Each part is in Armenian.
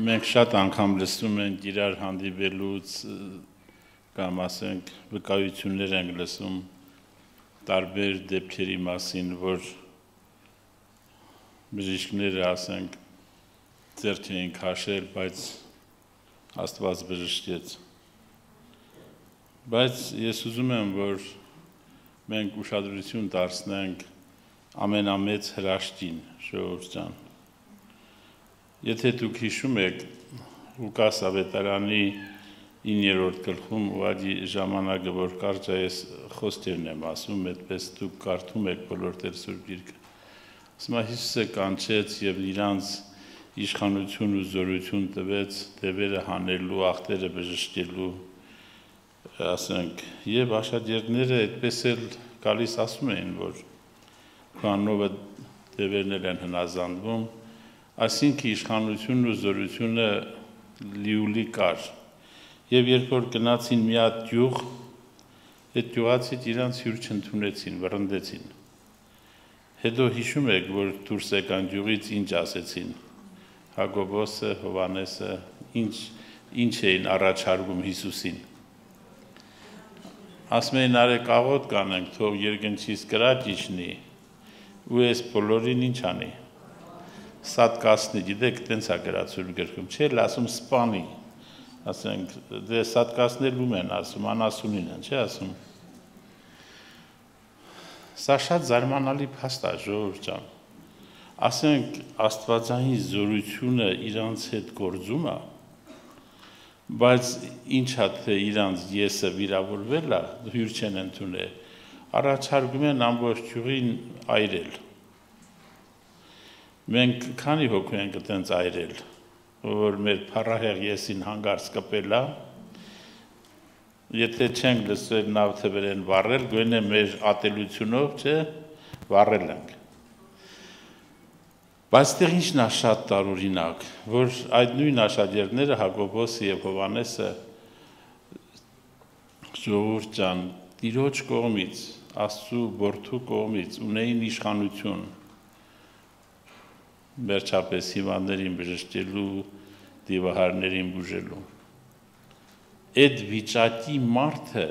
Մենք շատ անգամ լսում ենք իրար հանդիպելուց կամ ասենք վկայություններ ենք լսում տարբեր դեպքերի մասին, որ բժիշկները ասենք ձեռք էին քաշել, բայց Աստված բժշկեց։ Բայց ես ուզում եմ, որ մենք ուշադրություն դարձնենք ամենամեծ հրաշքին, ժողովուրդ ջան։ Եթե դուք հիշում եք Ղուկաս ավետարանի 9-րդ գլխում ուղղակի ժամանակը որ կարճ է ես խոսքերն եմ ասում, այդպես դուք կարդում եք բոլոր Տեր Սուրբ Գիրքը։ Ասում է Հիսուսը կանչեց եւ իրանց իշխանություն ու զորություն տվեց դևերը հանելու, ախտերը բժշկելու, ասենք, եւ աշակերտները այդպես էլ գալիս ասում էին, որ քանովը դևերն են հնազանդվում, այսինքն իշխանությունն ու զորությունը լիուլի կար։ Եվ երբ որ գնացին մի հատ գյուղ, այդ գյուղացիք իրանց հյուր չընդունեցին, վռնդեցին։ Հետո հիշում եք, որ դուրս եկան գյուղից ինչ ասեցին։ Հակոբոսը, Հովանեսը, ինչ էին առաջարկում Հիսուսին։ Ասում էին արեք աղոտ կանենք, թող երկնքից կրակ իջնի, ու այս բոլորին ինչ անի։ Սատկասնի, գիտեք, տենց է գրած Սուրբ Գրքում, չէ՞, ասում սպանի, ասենք, դե սատկասնել ում են ասում, անասունին են, չէ՞ ասում։ Սա շատ զարմանալի փաստ է, ժողովուրդ ջան։ Ասենք, Աստվածային զորությունը իրանց հետ գործում է, բայց ինչա թե իրանց եսը վիրավորվել է, հյուր չեն ընդունել, առաջարկում են ամբողջ գյուղին այրել։ Մենք քանի հոգու ենք այդպես այրել, որ մեր փառահեղ եսին հանգարց կպել է, եթե չենք լսել նավթեվերեն վառել, գոնե մեր ատելությունով, չէ, վառել ենք։ Բայց դեռ ինչն է շատ տարօրինակ, որ այդ նույն աշակերտները Հակոբոսը եւ Հովանեսը ժողովուրդ ջան, Տիրոջ կողմից, Աստծու որդու կողմից ունեին իշխանություն վերջապես հիվանդներին բժշկելու, դիվահարներին բուժելու։ Այդ վիճակի մարդը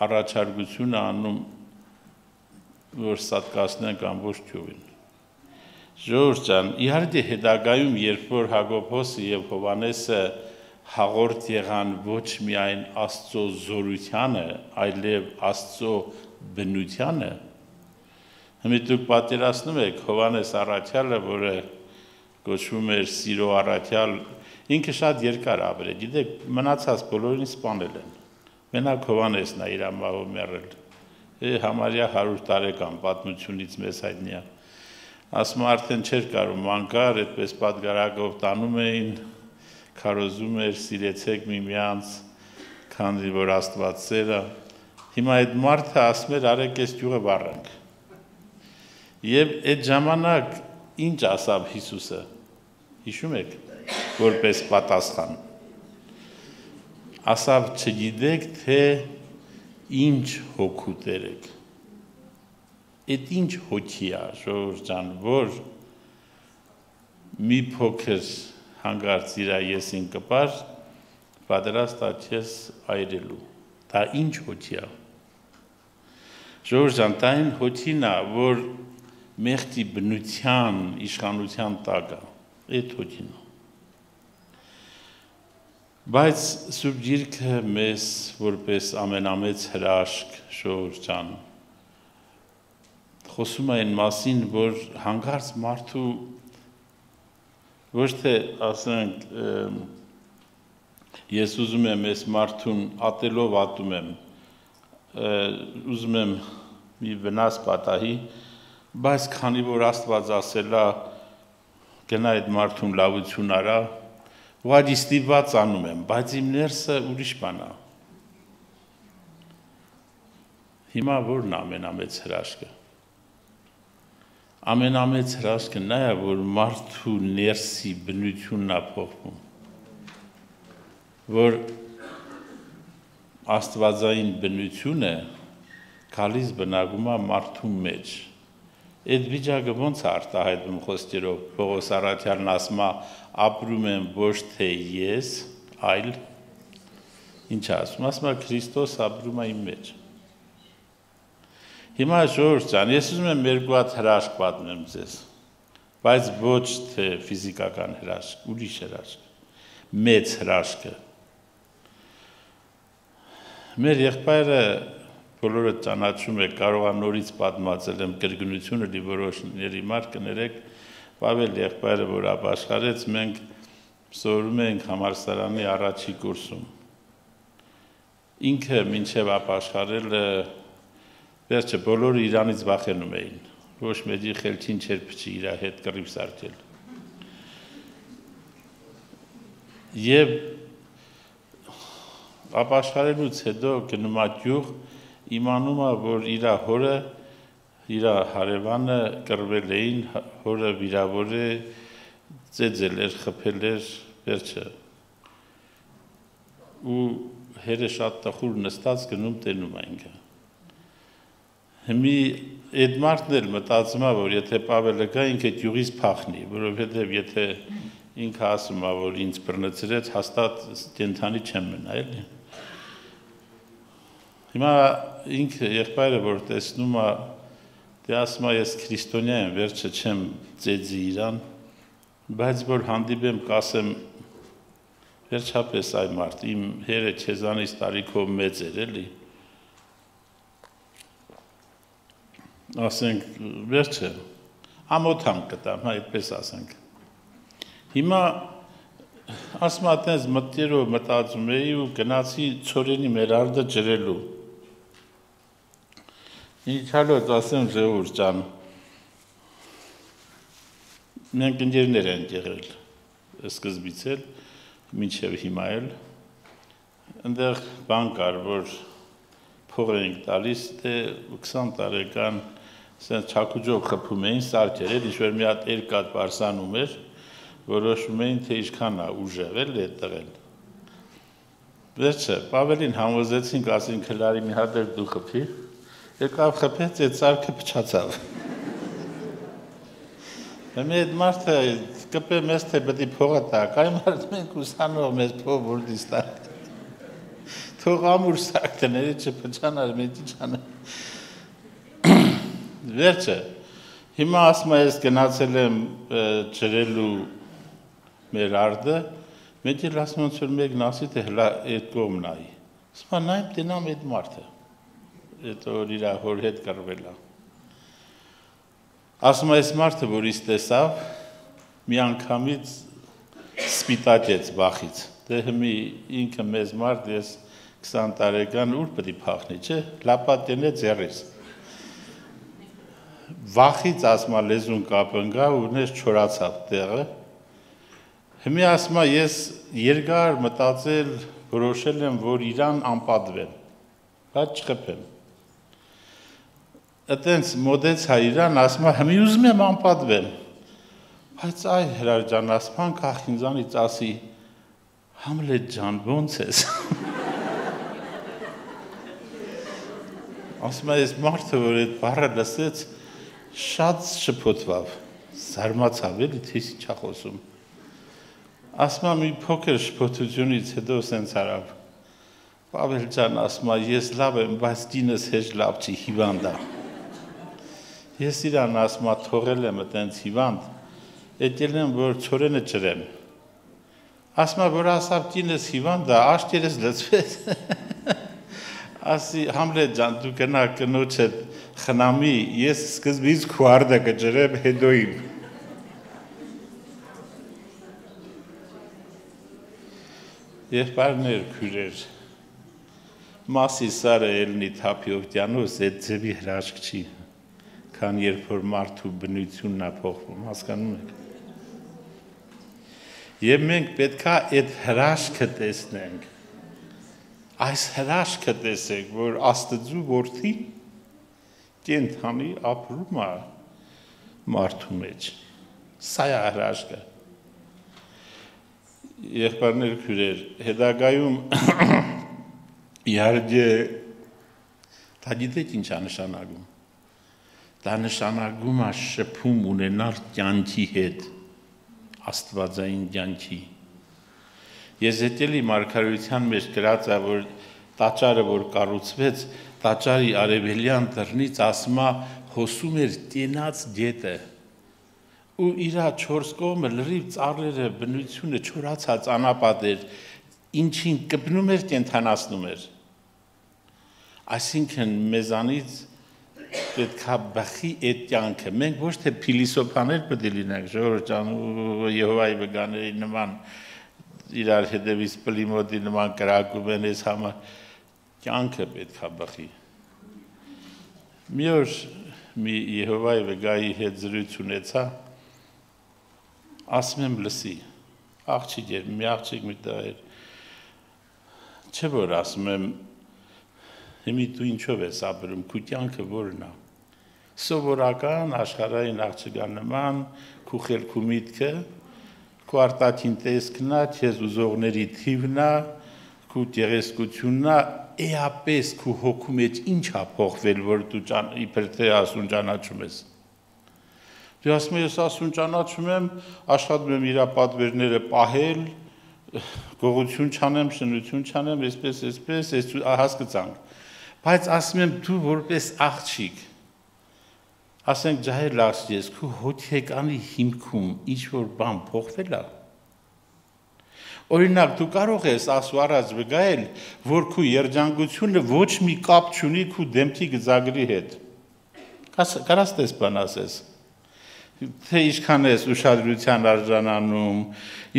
առաջարկություն է անում, որ սատկացնենք ամբողջ գյուղին։ Ժողովուրդ ջան, իհարկե հետագայում, երբ որ Հակոբոսը եւ Հովանեսը հաղորդ եղան ոչ միայն Աստծո զորությանը, այլև Աստծո բնությանը, Հիմա դուք պատերացնում եք Հովանես Առաքյալը, որը կոչվում էր Սիրո Առաքյալ, ինքը շատ երկար ապրել, գիտեք, մնացած բոլորին սպանել են։ Մենակ Հովանեսն է իր մահով մեռել։ Համարյա 100 տարեկան պատմությունից մեզ հայտնի է։ Ասում արդեն չէր կարող մանկար, այդպես պատգարակով տանում էին, քարոզում էր, սիրեցեք միմյանց, քանի որ Աստված սեր է։ Հիմա այդ մարդը ասում էր, արեք այս գյուղը վառենք։ Եվ այդ ժամանակ ինչ ասավ Հիսուսը, հիշում եք, որպես պատասխան, ասավ չգիտեք, թե ինչ հոգու տերեք, այդ ինչ հոգի է, ժողովուրդ ջան, որ մի փոքր հանգարց իր եսին կպար, պատրաստ է քեզ այրելու, դա ինչ հոգի է, ժողովուրդ ջան, դա այն հոգին է, որ մեղքի բնության իշխանության տակ է, այդ հոգին է։ Բայց Սուրբ Գիրքը մեզ որպես ամենամեծ հրաշք, ժողովուրդ ջան, խոսում է այն մասին, որ հանկարծ մարդու ոչ թե ասենք ես ուզում եմ այս մարդուն ատելով ատում եմ, ուզում եմ մի վնաս պատահի, բայց քանի որ Աստված ասել է գնա այդ մարդուն լավություն արա, ուղղակի ստիպված անում եմ, բայց իմ ներսը ուրիշ բան է։ Հիմա որն է ամենամեծ հրաշքը։ Ամենամեծ հրաշքը նա է, որ մարդու ներսի բնությունն է փոխվում, որ Աստվածային բնությունը գալիս բնակում է մարդու մեջ։ Այդ վիճակը ոնց է արտահայտվում խոսքերով Պողոս առաքյալն ասում է ապրում եմ ոչ թե ես, այլ ինչ ասում է Քրիստոս ապրում է իմ մեջ։ Հիմա ժողովուրդ ջան, ես ուզում եմ երկու հատ հրաշք պատմեմ ձեզ, բայց ոչ թե ֆիզիկական հրաշք, ուրիշ հրաշք, մեծ հրաշքը։ Մեր եղբայրը բոլորը ճանաչում եք, կարող է նորից պատմածել եմ կրկնությունը լի որոշների մար կներեք, Պավել եղբայրը, որ ապաշխարեց, մենք սովորում ենք համալսարանի առաջի կուրսում։ Ինքը մինչև ապաշխարելը վերջը բոլորը իրանից վախենում էին, ոչ մեջի խելքին չէր փչի իր հետ կռիվ սարքել։ Եվ ապաշխարելուց հետո գնում է գյուղ, իմանում է, որ իր հորը, իր հարևանը կռվել էին, հորը վիրավոր է, ծեծել էր, խփել էր, վերջը։ Ու հերը շատ տխուր նստած գնում տենում է ինքը։ Հիմի այդ մարդն էլ մտածում է, որ եթե Պավելը գա, ինքը գյուղից փախնի, որովհետև եթե ինքը ասում է, որ ինձ բռնցրեց, հաստատ կենդանի չեմ մնա, էլի։ Հիմա ինքը եղբայրը, որ տեսնում է, դե ասում է, ես քրիստոնյա եմ, վերջը չեմ ծեծի իրան, բայց որ հանդիպեմ կասեմ, վերջապես այ մարդ, իմ հերը չեզանից տարիքով մեծ էր, էլի։ Ասենք, վերջը, ամոթան կտամ, այդպես ասենք։ Հիմա ասում է, այդպես մտերով մտածում էի ու գնացի ծորենի մեր արդը ջրելու։ Իչալոց ասեմ ժողովուրդ ջան, մենք ընկերներ ենք եղել, սկզբից էլ, մինչև հիմա էլ, այնտեղ բան կար, որ փող էինք տալիս, դե 20 տարեկան չակուջով խփում էին սարքեր, ինչ-որ մի հատ երկաթ պարսանում էր, որոշում էին, թե ինչքան է ուժեղել է տղել։ Վերջը, Պավելին համոզեցինք, ասին քլարի մի հատ էլ դու խփի, եկավ խփեց, այդ սարքը փչացավ։ Հիմա այդ մարդը կպե մեզ թե պետք է փողը տակ, այ մարդ մենք ուսանող մեզ փող որտի ստակ։ Թող ամուր սարքները չփչանար, մենք ինչ անենք։ Վերջը, հիմա ասում ես գնացել եմ ջրելու մեր արդը, մենք էլ ասում ենք, որ մեկն ասի, թե հլա այդ կողմ նայի։ Ասում եմ, նայեմ տենամ այդ մարդը, այդ որ իր հոր հետ կռվել է։ Ասում այս մարդը, որ ինձ տեսավ, մի անգամից սպիտակեց վախից։ Դե հիմի ինքը մեզ մարդ, ես 20 տարեկան ուր պետք է փախնի, չէ, լապատենե ձեռից։ Վախից ասում լեզուն կապնգա ու նես չորացավ տեղը։ Հիմի ասում ես երկար մտածել, որոշել եմ, որ իրան անպատվեմ, բայց չխփեմ։ Այդտենց մոդեցա իրան, ասում հիմի ուզում եմ անպատվեմ։ Բայց այ Հրար ջան, ասում կախ ինձանից ասի, Համլետ ջան, ոնց ես։ Ասում ես մարդը, որ այդ բառը լսեց, շատ շփոթվավ, զարմացավ, էլի թե ինչ է խոսում։ Ասում մի փոքր շփոթությունից հետո սենց արավ։ Պավել ջան, ասում ես լավ եմ, բայց դինս հեչ լավ չի, հիվանդ է։ Ես իրան ասում թողել եմ այդպես հիվանդ, եկել եմ, որ ծորենը ջրեմ։ Ասում որ ասավ դինս հիվանդ է, աշտերս լծվեց։ Ասի Համլետ ջան, դու գնա կնոջդ խնամի, ես սկզբից քո արդը կջրեմ հետո իմ։ Եղբայրներ, քույրեր, մասի սարը ելնի թափիովտյանոս, այդ ձևի հրաշք չի, քան երբ որ մարդու բնությունն է փոխվում, հասկանում եք։ Եվ մենք պետքա այդ հրաշքը տեսնենք, այս հրաշքը տեսեք, որ Աստծու որդի կենդանի ապրում է մարդու մեջ, սա է հրաշքը։ Եղբայրներ, քույրեր, հետագայում իհարկե դա գիտեք ինչ է նշանակում։ Դա նշանակում է շփում ունենալ կյանքի հետ, աստվածային կյանքի։ Եզեկիելի մարգարեության մեջ գրած է, որ տաճարը, որ կառուցվեց, տաճարի արևելյան դռնից ասում է հոսում էր կենաց գետը, ու իր 4 կողմը լրիվ ծառերը, բնությունը չորացած անապատ էր, ինչին կպնում էր, կենդանացնում էր։ Այսինքն մեզանից պետք է բխի այդ կյանքը։ Մենք ոչ թե փիլիսոփաներ պետք է լինենք, Ժողովուրդ ջան, Եհովայի վկաների նման իրար հետևից պլիմոդի նման կրակում են այս համար, կյանքը պետք է բխի։ Մի օր մի Եհովայի վկայի հետ զրույց ունեցա, ասում եմ լսի, աղջիկ էր, մի աղջիկ մի տղա էր, չէ որ ասում եմ, հիմի դու ինչով ես ապրում, քու կյանքը որն է, սովորական աշխարհային աղջկա նման, քու խելքու միտքը, քու արտաքին տեսքն է, քեզ ուզողների թիվն է, քու գեղեցկությունն է, էապես քու հոգու մեջ ինչ է փոխվել, որ դու իբր թե ասուն ճանաչում ես։ Դու ասում ես ասուն ճանաչում եմ, աշխատում եմ իր պատվերները պահել, գողություն չանեմ, շնություն չանեմ, այսպես, հասկացանք։ Բայց ասում եմ դու որպես աղջիկ, ասենք ջահել աղջիկ ես, քու հոգեկանի հիմքում ինչ որ բան փոխվել է։ Օրինակ դու կարող ես ասու առաջ վկայել, որ քու երջանկությունը ոչ մի կապ չունի քու դեմքի գծագրի հետ։ Կարաս տես բան ասես։ Թե ինչքան ես ուշադրության արժանանում,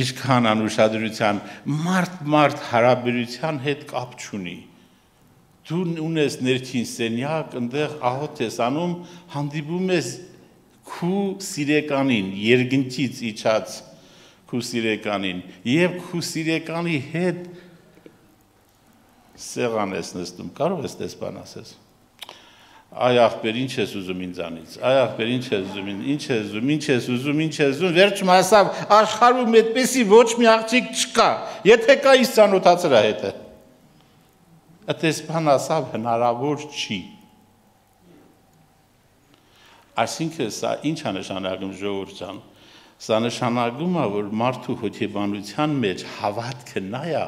ինչքան անուշադրության, մարդ հարաբերության հետ կապ չունի։ Դու ունես ներքին սենյակ, այնտեղ աղոթ ես անում, հանդիպում ես քու սիրեկանին, երկնքից իջած քու սիրեկանին, եւ քու սիրեկանի հետ սեղան ես նստում, կարող ես տես բան ասես։ Այ ախպեր, ինչ ես ուզում ինձանից, այ ախպեր, ինչ ես ուզում, ինչ ես ուզում, վերջում հասավ աշխարհում այդպեսի ոչ մի աղջիկ չկա, եթե կա ինձ ծանոթացրա հետը։ Այդպես բան ասավ հնարավոր չի։ Այսինքն սա ինչ է նշանակում Ժողովուրդ ջան։ Սա նշանակում է, որ մարդու հոգեբանության մեջ հավատքը նա է,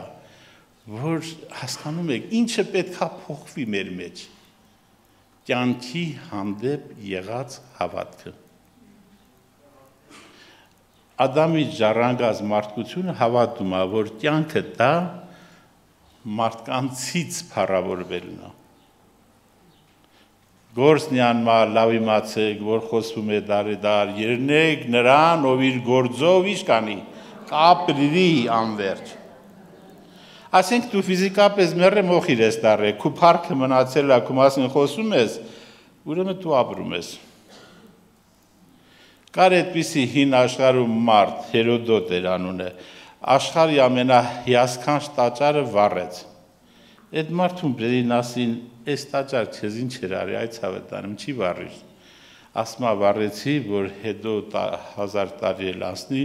որ հասկանում եք, ինչը պետք է փոխվի մեր մեջ։ Կյանքի հանդեպ եղած հավատքը։ Ադամի ժառանգած մարդկությունը հավատում է, որ կյանքը դա մարդկանցից փառավորվելն է։ Գործնյանմա լավ իմացեք, որ խոսվում է դարեդար, երնեք նրան, ով իր գործով ինչ կանի, կապրի անվերջ։ Ասենք դու ֆիզիկապես մեռը մոխիր ես դարը, քու փառքը մնացել է, քու մասին խոսում ես, ուրեմն դու ապրում ես։ Կար այդպիսի հին աշխարհում մարդ, Հերոդոտ էր անունը, աշխարհի ամենահիասքանչ տաճարը վառեց։ Այդ մարդուն բերին ասին, այս տաճար քեզ ինչ էր արի, այդ ցավը տանում, չի վառիր։ Ասում է վառեցի, որ հետո 1000 տարի էլ անցնի,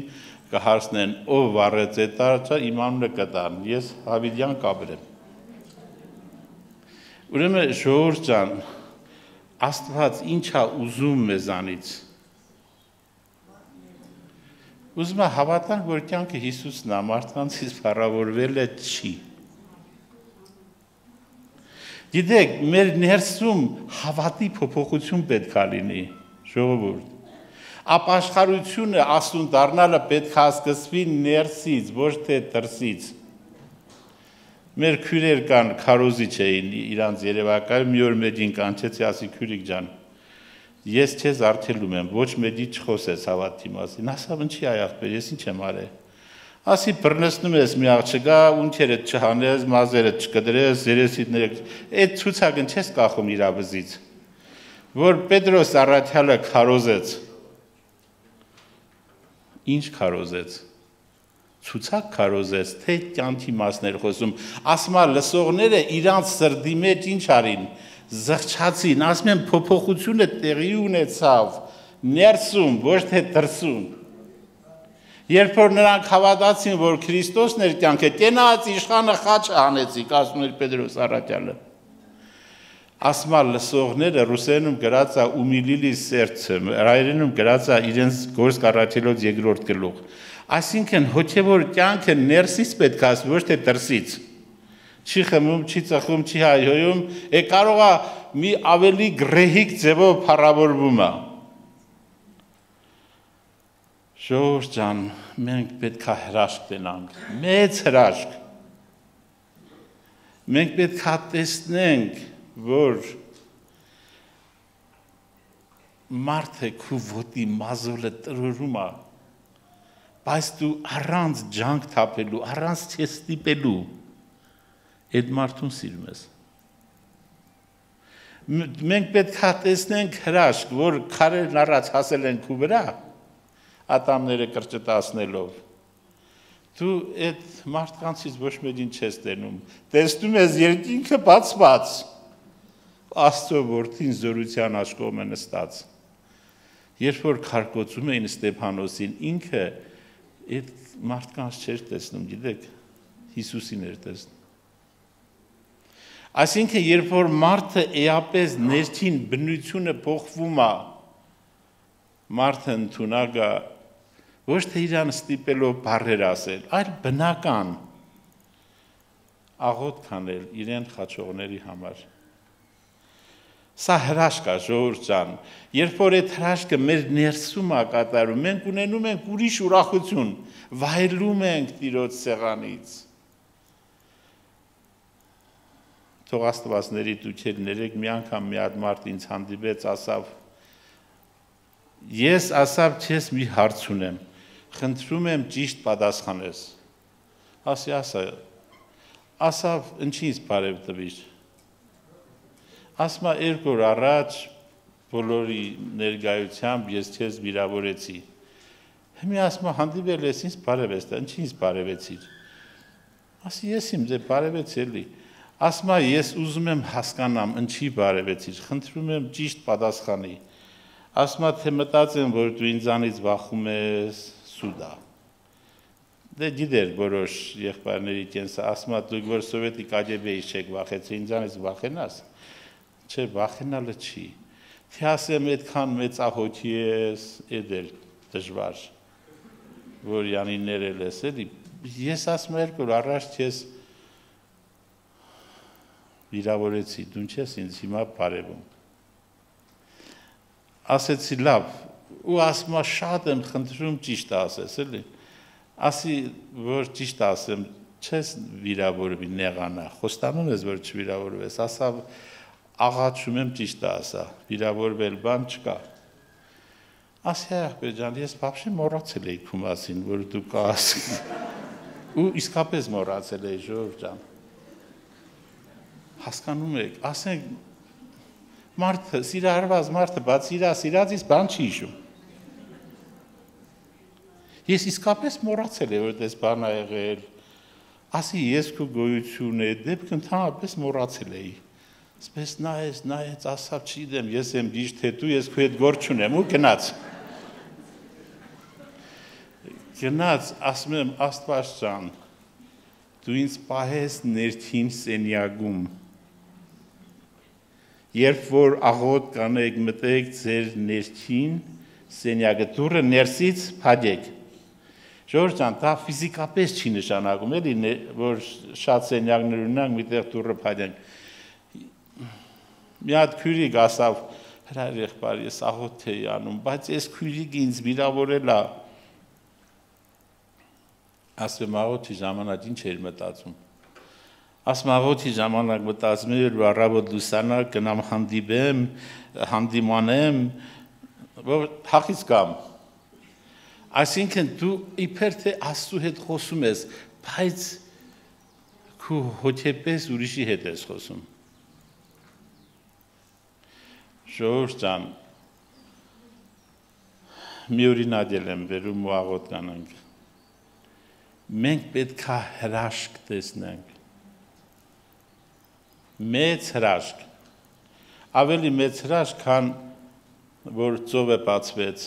կհարցնեն ով վառեց այդ տաճար, իմ անունը կտան, ես Հավիդյան կապրեմ։ Ուրեմն Ժողովուրդ ջան, Աստված ինչ է ուզում մեզանից։ Ուզում է հավատանք, որ կյանքը Հիսուսն է, մարդկանցից փառավորվելը չի։ Գիտեք, մեր ներսում հավատի փոփոխություն պետք է լինի, Ժողովուրդ։ Ապաշխարությունը ասուն դառնալը պետք է սկսվի ներսից, ոչ թե դրսից։ Մեր քույրեր կան, քարոզիչ էին իրանց երևակայում, մի օր մեջին կանչեցի, ասի քույրիկ ջան, ես քեզ արգելում եմ, ոչ մեջի չխոսես հավատի մասին։ Ասավ ինչի այ ախպեր, ես ինչ եմ արել։ Ասի բռնեցնում ես մի աղջկա, ունքերդ չհանես, մազերդ չկդրես, երեսիդները, այդ ցուցակն չես կախում իր վզից։ Որ Պետրոս առաքյալը քարոզեց։ Ինչ քարոզեց։ Ցուցակ քարոզեց, թե կյանքի մասներ խոսում։ Ասում է լսողները իրանց սրդի մեջ ինչ արին, զղջացին, ասում են փոփոխությունը տեղի ունեցավ ներսում, ոչ թե դրսում։ Երբ որ նրանք հավատացին, որ Քրիստոսն էր կյանքը, կենաց իշխանը խաչը հանեցիք, ասում էր Պետրոս առաքյալը։ ասմա լսողները ռուսերենում գրած է «Ումիլիլի սերդը», հայերենում գրած է իրենց գործ կառաջելով երկրորդ գլուխ։ Այսինքն հոգևոր կյանքը ներսից պետք է ոչ թե դրսից։ Չի խմում, չի ծխում, չի հայհոյում, կարող է մի ավելի գրեհիկ ձևով փառավորվում է։ Ժողովուրդ ջան, մենք պետք է հրաշք տենանք, մեծ հրաշք։ Մենք պետք է տեսնենք, որ մարդը քու ոտի մազոլը տրորում է, բայց դու առանց ջանք թափելու, առանց չես ստիպելու, այդ մարդուն սիրում ես։ Մենք պետք է տեսնենք հրաշք, որ քարերն առաջ հասել են քու վրա, ատամները կրճտացնելով։ Դու այդ մարդկանցից ոչ մեկին չես տենում, տեսնում ես երկինքը բացված, Աստծո որդին զորության աչքով է նստած։ Երբ որ քարկոծում էին Ստեփանոսին, ինքը այդ մարդկանց չէր տեսնում, գիտեք, Հիսուսին էր տեսնում։ Այսինքն, երբ որ մարդը էապես ներքին բնությունը փոխվում է, մարդը ընդունակ է, ոչ թե իրան ստիպելով բառեր ասել, այլ բնական աղոթք անել իրեն խաչողների համար։ Սա հրաշք է, ժողովուրդ ջան, երբ որ այդ հրաշքը մեր ներսում է կատարում, մենք ունենում ենք ուրիշ ուրախություն, վայելում ենք Տիրոջ սեղանից։ Թող Աստվածների դուքերներեք մի անգամ մի հատ մարդ ինձ հանդիպեց, ասավ, ես ասավ չես մի հարց ունեմ, խնդրում եմ ճիշտ պատասխանես։ Ասի ասավ ինչի ինձ բարև տվիր։ Ասմա 2 օր առաջ բոլորի ներկայությամբ ես քեզ վիրավորեցի։ Հիմա ասմա հանդիպել ես ինձ բարև ես տա, ինչի ինձ բարևեցիր։ Ասի ես իմ ձեր բարևեցի էլի։ Ասմա ես ուզում եմ հասկանամ ինչի բարևեցիր, խնդրում եմ ճիշտ պատասխանի։ Ասմա թե մտածեմ, որ դու ինձանից վախում ես սուդա։ Դե գիտեր որոշ եղբայրների կենսը, ասմա դուք որ սովետի կագեբեից չեք վախեցի, ինձանից վախենաս։ Չէ, վախենալը չի։ Թե ասեմ այդքան մեծահոգի ես, էդ էլ դժվար, որ յանի ներել ես, էլի, ես ասում 2 օր առաջ ես վիրավորեցի, դու չես ինձ հիմա բարևում։ Ասեցի լավ, ու ասում շատ եմ խնդրում ճիշտ ասես, էլի։ Ասի, որ ճիշտ ասեմ, չես վիրավորվի նեղանա, խոստանում ես, որ չվիրավորվես, ասավ աղաչում եմ ճիշտ ասա, վիրավորվել բան չկա։ Ասի ախպեր ջան, ես բաբշե մոռացել էի քու մասին, որ դու կաս։ Ու իսկապես մոռացել էի, ժողովուրդ ջան։ Հասկանում եք, ասենք մարդը, սիրահարված մարդը, բաց սիրածից բան չի հիշում։ Ես իսկապես մոռացել եմ, որ դες բան ա եղել։ Ասի ես քու գոյություն է, դեպք ընդհանրապես մոռացել էի։ Սպես նայեց, ասավ չգիտեմ, ես եմ ճիշտ թե դու, ես քո հետ գործ չունեմ ու գնաց։ Գնաց, ասում եմ Աստված ջան, դու ինձ պահես ներքին սենյակում։ Երբ որ աղոթք կանեք, մտեք ձեր ներքին սենյակը, դուռը ներսից փակեք։ Ժողովուրդ ջան, դա ֆիզիկապես չի նշանակում, էլի, որ շատ սենյակներ ունենանք, միտեղ դուռը փակենք։ Մի հատ քույրիկ ասավ, հրար եղբայր, ես աղոթք էի անում, բայց այս քույրիկը ինձ վիրավորել է։ Ասում եմ աղոթքի ժամանակ ինչ էր մտածում։ Ասում աղոթքի ժամանակ մտածում եմ, որ առավոտ լուսանա գնամ հանդիպեմ, հանդիմանեմ, որ հախից կամ։ Այսինքն դու իբր թե Աստծու հետ խոսում ես, բայց քու հոգեպես ուրիշի հետ ես խոսում։ Ժողովուրդ ջան, մի օրինակ եմ վերում ու աղոթք անենք։ Մենք պետք է հրաշք տեսնենք։ Մեծ հրաշք։ Ավելի մեծ հրաշք, քան որ ծովը բացվեց։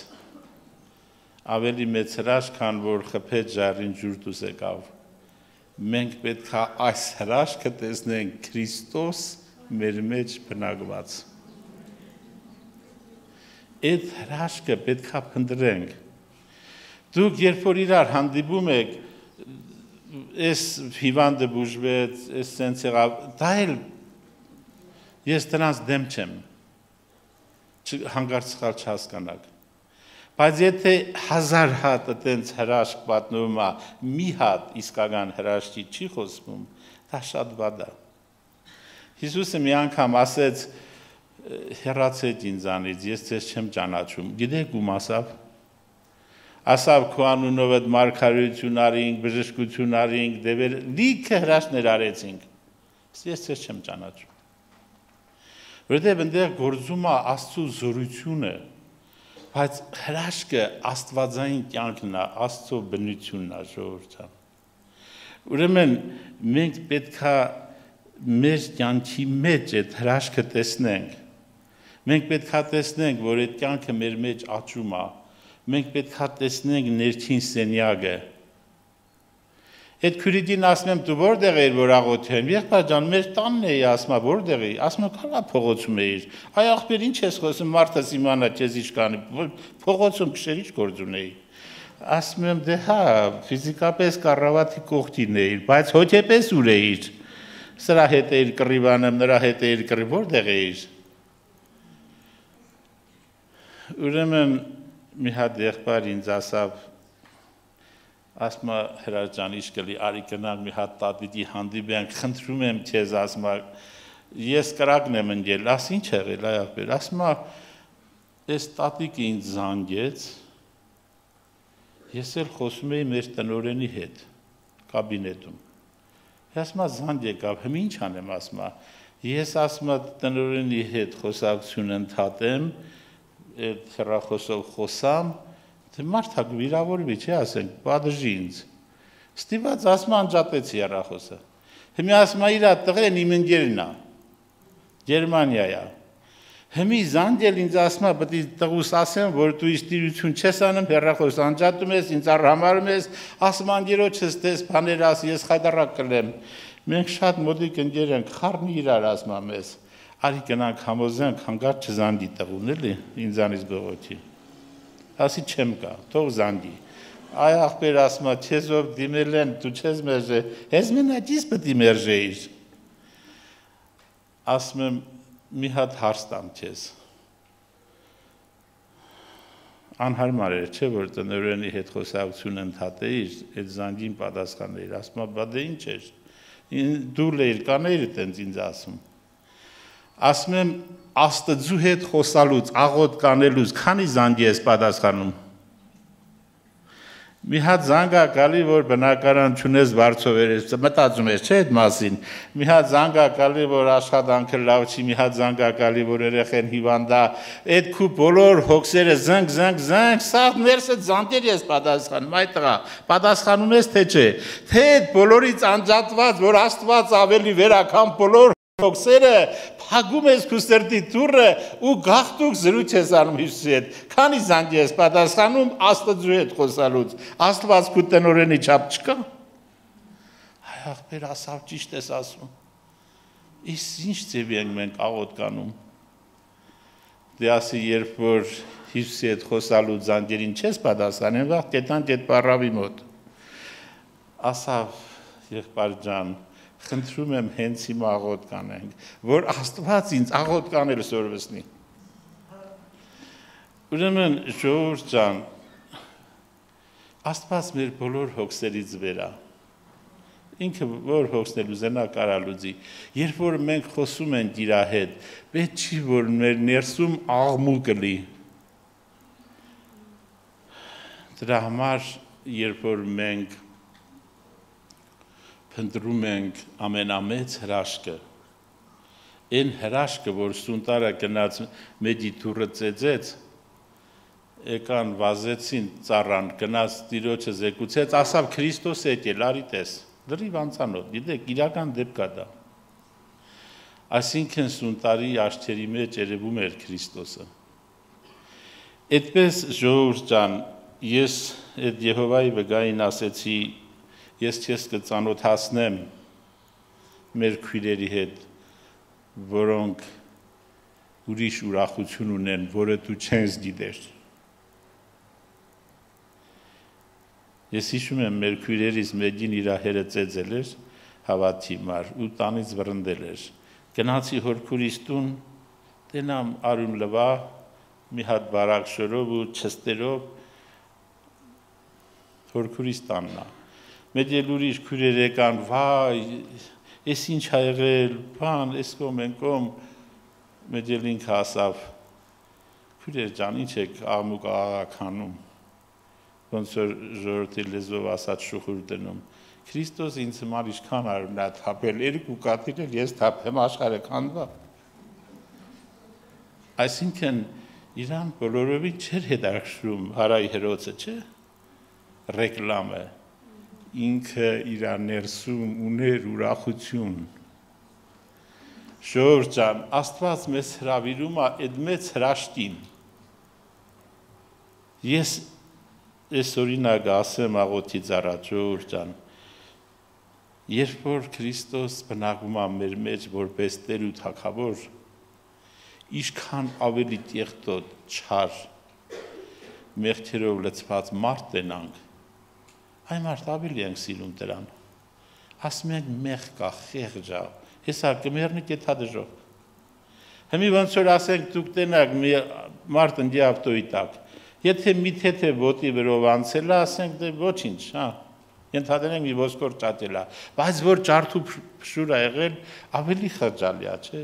Ավելի մեծ հրաշք, քան որ խփեց ժառին ջուր դուրս եկավ։ Մենք պետք է այս հրաշքը տեսնենք Քրիստոս մեր մեջ բնակված։ Այդ հրաշքը պետք է փնտրենք։ Դուք երբ որ իրար հանդիպում եք, այս հիվանդը բուժվեց, այս սենց եղավ, դա էլ ես դրանց դեմ չեմ, հանկարծ սխալ չհասկանաք։ Բայց եթե 1000 հատ այդպես հրաշք պատմում է, մի հատ իսկական հրաշքի չի խոսվում, դա շատ վատ է։ Հիսուսը մի անգամ ասեց, հեռացեք ինձանից, ես ձեզ չեմ ճանաչում։ Գիտեք ում ասավ։ Ասավ քո անունով այդ մարգարեություն արինք, բժշկություն արինք, դեպեր լիքը հրաշքներ արեցինք։ Ես ձեզ չեմ ճանաչում։ Որտեղ այնտեղ գործում է Աստծո զորությունը, բայց հրաշքը աստվածային կյանքն է, Աստծո բնությունն է, ժողովուրդ ջան։ Ուրեմն մենք պետքա մեր կյանքի մեջ այդ հրաշքը տեսնենք։ Մենք պետքա տեսնենք, որ այդ կյանքը մեր մեջ աճում է։ Մենք պետքա տեսնենք ներքին սենյակը։ Այդ քուրիդին ասում եմ, դու որտեղ ես որ աղոթեն։ Եղբայր ջան, մեր տանն էի, ասում եմ, որտեղ էի։ Ասում եմ, քանա փողոցում էիր։ Այ ախպեր, ինչ ես խոսում, մարդը իմանա քեզ ինչ կանի։ Փողոցում քշեր ինչ գործ ունեի։ Ասում եմ, դե հա, ֆիզիկապես կառավարի կողքին էիր, բայց հոգեպես ուր էիր։ Սրա հետ էիր կռիվանում, նրա հետ էիր կռիվ, որտեղ էիր։ Ուրեմն մի հատ եղբայր ինձ ասավ, ասում է Հրաշ ջան, ինչ կլի, արի գնանք մի հատ տատիկի հանդիպենք, խնդրում եմ քեզ, ասում է, ես կրակն եմ ընկել, աս ինչ եղել, այ ախպեր, ասում է, այս տատիկը ինձ զանգեց, ես էլ խոսում էի մեր տնօրենի հետ, կաբինետում։ Ասում է, զանգ եկավ, հիմա ինչ անեմ, ասում է, ես ասում է տնօրենի հետ խոսակցություն ընդհատեմ, այդ հեռախոսով խոսամ, թե մարդակ վիրավորվի, չի ասենք, պատժի ինձ։ Ստիված ասում անջատեցի հեռախոսը։ Հիմա ասում է իր տղեն իմ ընկերն է, Գերմանիա է։ Հիմա զանգել ինձ ասում է, պետք է տղուս ասեմ, որ դու իստիրություն չես անում, հեռախոս անջատում ես, ինձ առհամարում ես, ասում անգերոջս դες բաներ ասի, ես խայտարակ կլեմ։ Մենք շատ մոտիկ ընկեր ենք, խառնի իրար ասում եմ ես։ Արի գնանք համոզենք, հանկարծ չզանգի տղուն էլի, ինձանից բողոքի։ Ասի չեմ կա, թող զանգի։ Այ ախպեր ասում է, չես ով դիմել են, դու չես մերժե, ես մենակ պետք է մերժեիր։ Ասում եմ, մի հատ հարց տամ քեզ։ Անհարմար էր, չէ՞ որ տնօրենի հետ խոսակցություն ընդհատեիր, այդ զանգին պատասխաներ, ասում է, բա դե ինչ էր։ Դու լեիր կանեիր այտենց ինձ ասում։ Ասում եմ, Աստծու հետ խոսալուց, աղոտ կանելուց, քանի զանգի ես պատասխանում։ Մի հատ զանգ ա գալի, որ բնակարան չունես վարձով ես, մտածում ես, չէ՞ այդ մասին։ Մի հատ զանգ ա գալի, որ աշխատանքը լավ չի, մի հատ զանգ ա գալի, որ երեխեն հիվանդ է, այդ քու բոլոր հոգսերը զանգ, սա ներսը զանգեր ես պատասխանում, այդ տղա, պատասխանում ես թե չէ։ Թե այդ բոլորից անջատված, որ Աստված ավելի վերակամ բոլոր հոգսերը փակում ես քո սրտի դուռը ու գաղթուկ զրույց ես անում Հիսուսի հետ։ Քանի զանգ ես պատասխանում Աստծու հետ խոսալուց։ Աստված քո տնօրենի չափ չկա։ Այ ախպեր ասավ ճիշտ ես ասում։ Իսկ ինչ ձևի ենք մենք աղոտ կանում։ Դե ասի երբ որ Հիսուսի հետ խոսալու զանգերին չես պատասխանել, վաղ կետանք այդ պարավի մոտ։ Ասավ եղբայր ջան, խնդրում եմ հենց հիմա աղոտ կանենք, որ Աստված ինձ աղոտ կանել սորվեցնի։ Ուրեմն ժողովուրդ ջան, Աստված մեր բոլոր հոգսերից վեր է։ Ինքը որ հոգսներ ուզենա կարա լուծի։ Երբ որ մենք խոսում ենք իր հետ, պետք չի որ մեր ներսում աղմուկ լի։ Դրա համար երբ որ մենք փնտրում ենք ամենամեծ հրաշքը, այն հրաշքը, որ սունտարը գնաց մեջի դուռը ծեծեց, եկան վազեցին ծառան, գնաց տիրոջը զեկուցեց, ասավ Քրիստոս եկել, արի տես, լրիվ անծանոթ, գիտեք, իրական դեպք է դա։ Այսինքն սունտարի աչքերի մեջ երևում էր Քրիստոսը։ Այդպես ժողովուրդ ջան, ես այդ Եհովայի վգային ասեցի, ես քեզ կծանոթացնեմ մեր քույրերի հետ, որոնք ուրիշ ուրախություն ունեն, որը դու չես գիտեր։ Ես հիշում եմ մեր քույրերից մեկին իր հերը ծեծել էր հավատի մար ու տանից վռնդել էր։ Գնացի հոր քուրիս տուն, տենամ արուն լվա, մի հատ բարակ շորով ու չստերով հոր քուրիս տաննա։ Մեծ էլ ուրիշ քույրեր եկան, վայ, ես ինչ ա եղել, բան, ես կոմ են կոմ, մեծ էլ ինքը ասավ, քույրեր ջան, ինչ եք աղմուկ աղաղականում, ոնց որ ժողովրդի լեզվով ասած շուխուր դնում, Քրիստոս ինձ համար ինչքան արուն ա թափել, երկու կաթիլ էլ ես թափեմ աշխարհը քանդվա։ Այսինքն իրան բոլորովին չէր հետաքրքրում հարայի հերոցը, չէ՞, ռեկլամը, ինքը իր ներսում ուներ ուրախություն։ Ժողովուրդ ջան, Աստված մեզ հրավիրում է այդ մեծ հրաշքին։ Ես այս օրինակը ասեմ աղոթից առաջ, ժողովուրդ ջան, երբ որ Քրիստոս բնակվում է մեր մեջ որպես Տեր ու Թագավոր, ինչքան ավելի տեղտոտ, չար, մեղքերով լցված մարդ տենանք, այն մարդ ավելի ենք սիրում դրան։ Ասում ենք մեղ կա, խեղճ ա, հեսա կմեռնի կեթադժով։ Հիմի ոնց որ ասենք դուք տենակ մի մարդ ընդի ավտոյի տակ, եթե մի թեթե ոտի վրով անցել է, ասենք դե ոչինչ, հա, ենթադրենք մի ոսկոր ճատել է, բայց որ ջարդու փշուր ա եղել, ավելի խղճալի է, չէ։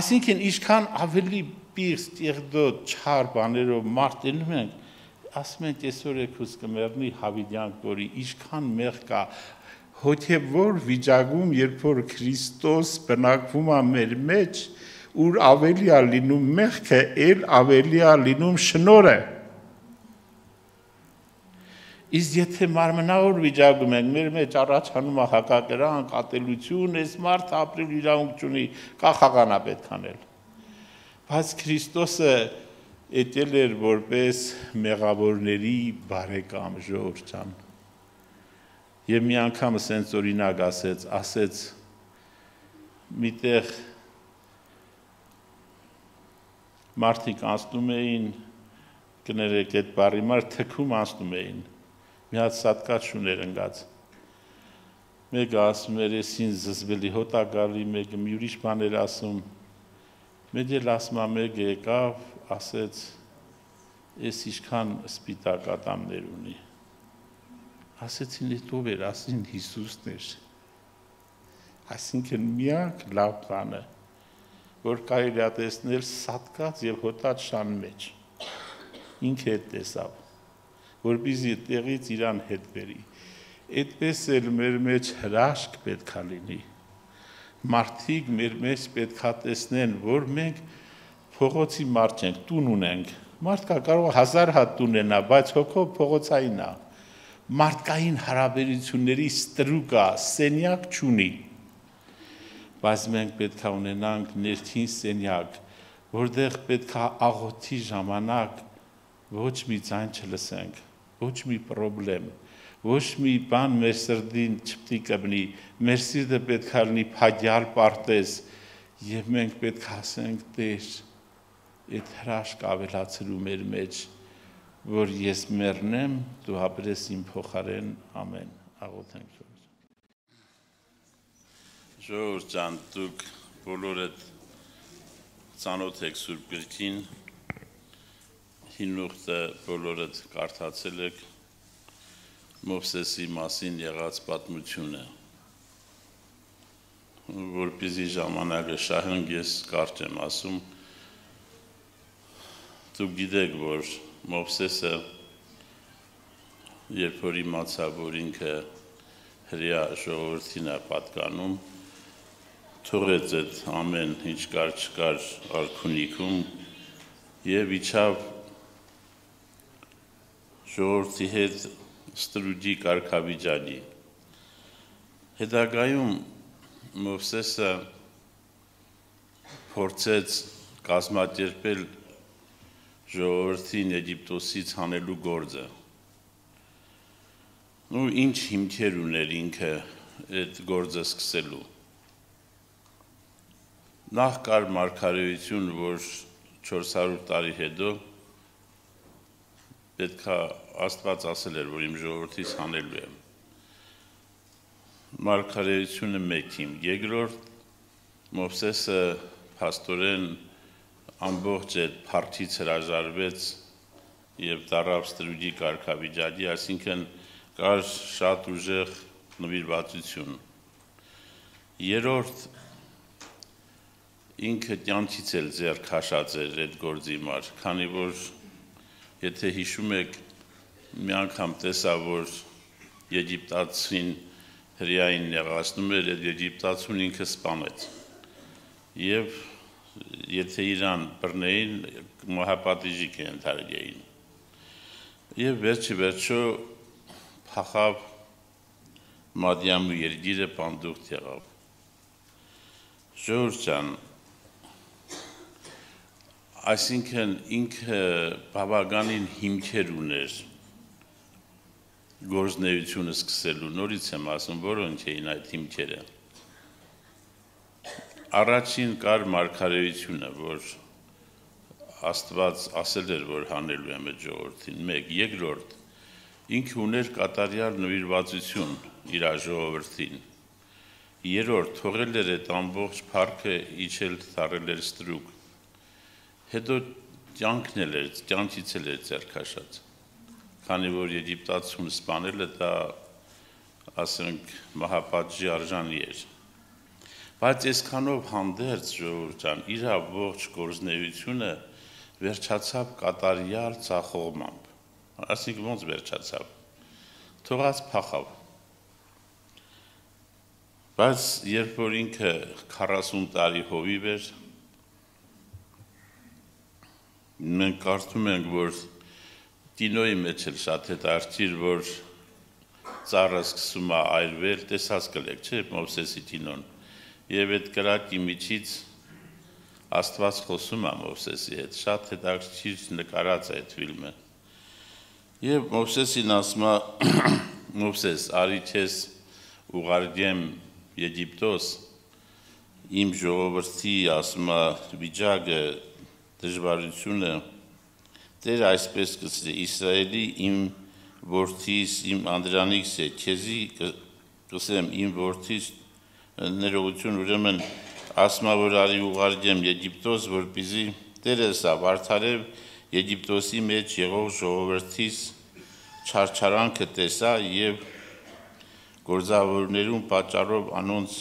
Այսինքն ինչքան ավելի պիղծ, տեղտոտ, չար բաներով մարդ տենում ենք, ասում ենք այսօր եկուս կմեռնի հավիդյանք, որի ինչքան մեղ կա, հոգևոր վիճակում, երբ որ Քրիստոս բնակվում է մեր մեջ, ուր ավելի է լինում մեղքը, էլ ավելի է լինում շնորհը։ Իսկ եթե մարմնավոր վիճակում ենք, մեր մեջ առաջանում է հակակրանք, ատելություն, այս մարդը ապրել իրավունք չունի, կա խաղանա պետք անել։ Բայց Քրիստոսը եկել էր որպես մեղավորների բարեկամ, ժողովուրդ ջան։ Եվ մի անգամ սենց օրինակ ասեց միտեղ մարդիկ անցնում էին, կներեք այդ բարի մար թքում անցնում էին, մի հատ սատկած շուներ ընգած, մեկը ասում էր ես ինձ զզվելի հոտ ա գալի, մեկը մի ուրիշ բան էր ասում, մեծ էլ ասում ա մեկը եկավ, ասեց ես ինչքան սպիտակ ատամներ ունի, ասեցին էդ ով էր, ասին Հիսուսն էր, այսինքն միակ լավ բանը, որ կարելի է տեսնել սատկած եւ հոտած շան մեջ, ինքը հետ տեսավ, որպեսզի տեղից իրան հետ բերի, այդպես էլ մեր մեջ հրաշք պետք է լինի, մարդիկ մեր մեջ պետք է տեսնեն, որ մենք փողոցի մարդ չենք, տուն ունենք, մարդկա կարող 1000 հատ տուն ունենա, բայց հոգով փողոցային է, մարդկային հարաբերությունների ստրուկ է, սենյակ չունի, բայց մենք պետք է ունենանք ներքին սենյակ, որտեղ պետք է աղոթի ժամանակ ոչ մի ձայն չլսենք, ոչ մի պրոբլեմ, ոչ մի բան մեր սրտին չպետք է կբնի, մեր սիրտը պետք է լինի փաջալ պարտեզ, եւ մենք պետք է ասենք Տեր, այդ հրաշք ավելացրու մեր մեջ, որ ես մեռնեմ, դու ապրես իմ փոխարեն, ամեն, աղոթենք Ժողովուրդ ջան, դուք բոլորդ ծանոթ եք Սուրբ Գրքին, հին ուխտը բոլորդ կարդացել եք Մովսեսի մասին եղած պատմությունը, որպեսզի ժամանակը շահենք ես կարճ եմ ասում, դուք գիտեք, որ Մովսեսը, երբ որ իմացավ, որ ինքը հրեա ժողովրդին է պատկանում, թողեց այդ ամեն ինչ կար չկար արքունիքում եւ իջավ ժողովրդի հետ ստրուջի կարգավիճակի։ Հետագայում Մովսեսը փորձեց կազմակերպել ժողովրդին Եգիպտոսից հանելու գործը։ Ու ինչ հիմքեր ուներ ինքը այդ գործը սկսելու։ Նախ կար մարգարեություն, որ 400 տարի հետո պետք է Աստված ասել էր, որ իմ ժողովրդից հանելու եմ։ Մարգարեությունը մեկ իմ, երկրորդ Մովսեսը փաստորեն ամբողջ այդ փարթից հրաժարվեց եւ դարավ ստրուգի կարգավիճակի, այսինքն կար շատ ուժեղ նվիրվածություն։ Երրորդ ինքը կյանքից էլ ձեռ քաշած էր այդ գործի համար, քանի որ եթե հիշում եք, մի անգամ տեսա, որ եգիպտացին հրեային նեղացնում էր, այդ եգիպտացուն ինքը սպանեց։ Եվ եթե իրան բռնեին, մահապատիժի կենթարկեին։ Եվ վերջո փախավ Մադիամու երկիրը պանդուխտ եղավ։ Ժողովուրդ ջան, այսինքն ինքը բավականին հիմքեր ուներ գործունեությունը սկսելու, նորից եմ ասում, որոնք էին այդ հիմքերը։ Առաջին կար մարգարեությունը, որ Աստված ասել էր, որ հանելու եմ այդ ժողովրդին, մեկ, երկրորդ, ինքը ուներ կատարյալ նվիրվածություն իր ժողովրդին, երրորդ, թողել էր այդ ամբողջ փառքը իջել թարել էր ստրուկ, հետո կյանքն էլ էր, կյանքից էլ էր ձեռ քաշած, քանի որ եգիպտացուն սպանելը դա, ասենք, մահապատժի արժանի էր։ Բայց այսքանով հանդերձ ժողովուրդ ջան, իր ողջ գործունեությունը վերջացավ կատարյալ ցախողմամբ։ Այսինքն ոնց վերջացավ։ Թողած փախավ։ Բայց երբ որ ինքը 40 տարի հովիվ էր, մենք կարծում ենք, որ Տինոյի մեջ էլ շատ հետաքրքիր, որ ծառը սկսում է այրվել, տեսած կլեք, չէ՞, Մովսեսի Տինոն։ Եվ այդ կրակի միջից Աստված խոսում է Մովսեսի հետ, շատ հետաքրքիր նկարած է այդ ֆիլմը։ Եվ Մովսեսին ասում է, Մովսես, արի քեզ ուղարկեմ Եգիպտոս, իմ ժողովրդի, ասում է, վիճակը, դժվարությունը, Տեր այսպես կսրի, Իսրայելի իմ որդիս, իմ անդրանիքս է, քեզի կսեմ իմ որդիս ներողություն, ուրեմն ասում է, որ արի ուղարկեմ Եգիպտոս, որպեսզի Տերս արդարև Եգիպտոսի մեջ եղող ժողովրդիս չարչարանքը տեսա եւ գործավորներուն պատճառով անոնց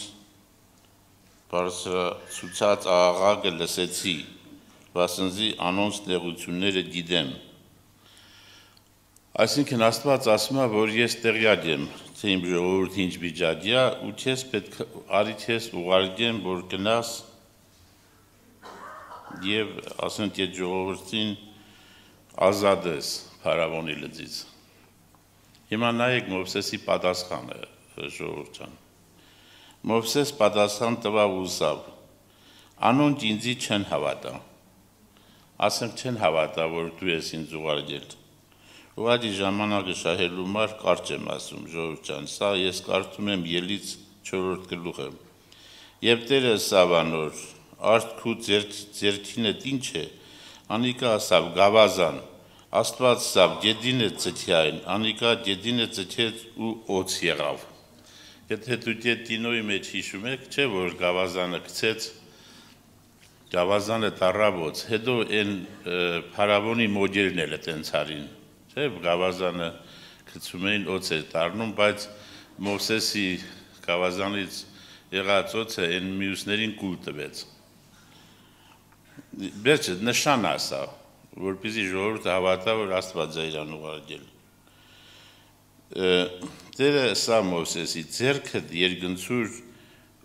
բարձրացուցած աղաղակը լսեցի, վասնզի անոնց նեղությունները գիտեմ։ Այսինքն Աստված ասում է, որ ես տեղյակ եմ, թե իմ ժողովուրդը ինչ վիճակի է, ու քեզ պետք արի քեզ ուղարկեմ, որ գնաս եւ ասենք այդ ժողովրդին ազատես փարավոնի լծից։ Հիմա նայեք Մովսեսի պատասխանը, ժողովուրդ ջան։ Մովսես պատասխան տվավ ուսավ. Անոնք ինձի չեն հավատա։ Ասենք չեն հավատա, որ դու ես ինձ ուղարկել։ Ուղղակի ժամանակը շահելու համար կարճ եմ ասում, ժողովուրդ ջան, սա ես կարդում եմ Ելից 4-րդ գլուխը։ Եվ Տերը ասավ անոր, արդ քու ձեռքինդ ինչ է, անիկա ասավ գավազան, Աստված ասավ գեդին է ծթյային, անիկա գեդին է ծթեց ու օծ եղավ։ Եթե դու Տինոյի մեջ հիշում եք, չէ՞ որ գավազանը գցեց, գավազանը տարավ օծ, հետո այն փարավոնի մոդելն էլ այդպես արին։ Չէ, գավազանը գցում էին օծ էր դառնում, բայց Մովսեսի գավազանից եղած օծը այն մյուսներին կուլ տվեց։ Վերջը նշան ասա, որպեսզի ժողովուրդը հավատա, որ Աստված է իրան ուղարկել։ Տերը ասա Մովսեսի, ձեռքդ երկնցուր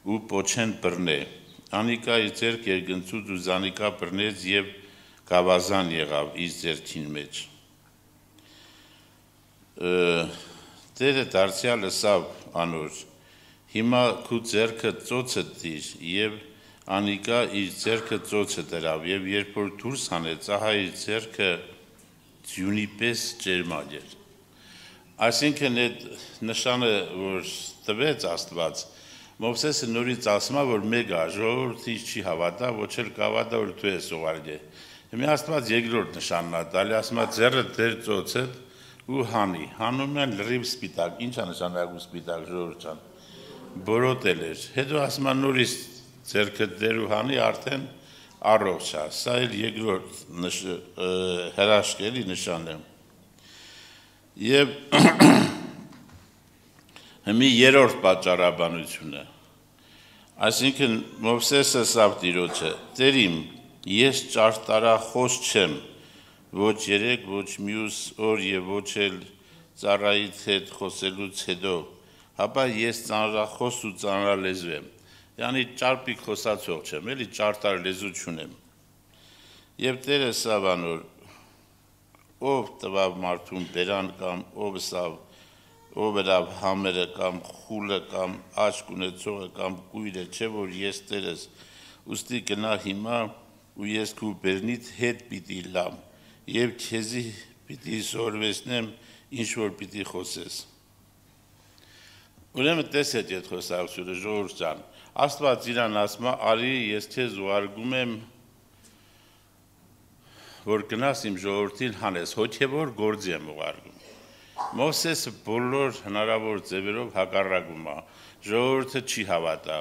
ու պոչեն բռնե։ Անիկա իր ձեռք երկնցուց ու զանիկա բռնեց եւ գավազան եղավ իր ձեռքին մեջ։ Տերը դարձյալ ասավ անոր, հիմա քու ձեռքը ծոցը դիր եւ անիկա իր ձեռքը ծոցը դրավ եւ երբ որ դուրս հանեց, ահա իր ձեռքը ձյունի պես ջերմակ էր։ Այսինքն այդ նշանը, որ տվեց Աստված, Մովսեսը նորից ասում է, որ մեկ է, ժողովուրդը ինձ չի հավատա, ոչ էլ կհավատա, որ դու ես ուղարկել։ Հիմա Աստված երկրորդ նշանն է տալի, ասում է ձեռը դեր ծոցդ ու հանի։ Հանում են լրիվ սպիտակ։ Ինչ է նշանակում սպիտակ, ժողովուրդ ջան։ Բորոտել էր։ Հետո ասում է նորից ձեռքը դեր ու հանի, արդեն առողջ է։ Սա էլ երկրորդ հրաշքելի նշան է։ Եվ Հիմի երրորդ պատճառաբանությունը, այսինքն Մովսեսը ասավ Տիրոջը, Տեր իմ, ես ճարտարախոս չեմ, ոչ երեք, ոչ մյուս օր եւ ոչ էլ ծառայիդ հետ խոսելուց հետո, հապա ես ծանրախոս ու ծանրալեզու եմ, յանի ճարպիկ խոսացող չեմ, էլի ճարտար լեզու չունեմ։ Եվ Տերը ասավ անոր, ով տվավ մարդուն բերան կամ ով երավ համերը կամ խուլը կամ աչք ունեցողը կամ կույրը, չէ որ ես Տերս, ուստի գնա հիմա ու ես քու բերնիդ հետ պիտի լամ եւ քեզի պիտի սորվեսնեմ ինչ որ պիտի խոսես։ Ուրեմն տեսեք այդ խոսակցությունը ժողովուրդ ջան, Աստված իրան ասում է, արի ես քեզ ուղարկում եմ որ գնաս իմ ժողովրդին հանես, հոգևոր գործի եմ ուղարկում։ Մովսեսը բոլոր հնարավոր ձևերով հակառակում է, ժողովուրդը չի հավատա,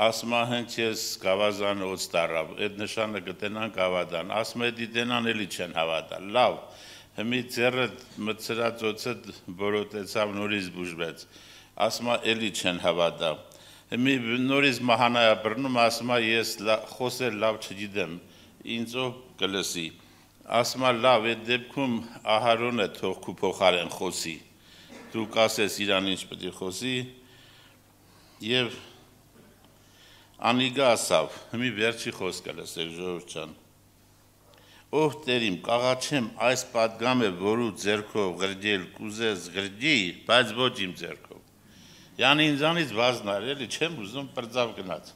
ասում է հենց ես գավազան օծ տարավ, այդ նշանը կտենան գավադան, ասում է դիտենան էլի չեն հավատա, լավ, հիմի ձեռը մտցրած օծը բորոտեցավ նորից բուժվեց, ասում է էլի չեն հավատա, հիմի նորից մահանայա բռնում, ասում է ես խոսել լավ չգիտեմ, ինձ ով կլսի, ասում է լավ, այդ դեպքում Ահարոնը թող քու փոխարեն խոսի, դու կասես իրան ինչ պետք է խոսի, եւ անիգա ասավ, հիմի վերջի խոսքը լսեք ժողովուրդ ջան, ով Տեր իմ, կաղաչեմ այս պատգամը, որու ձեռքով գրդել կուզես գրդի, բայց ոչ իմ ձեռքով, յանի ինձանից վազնար, էլի չեմ ուզում պրծավ գնաց,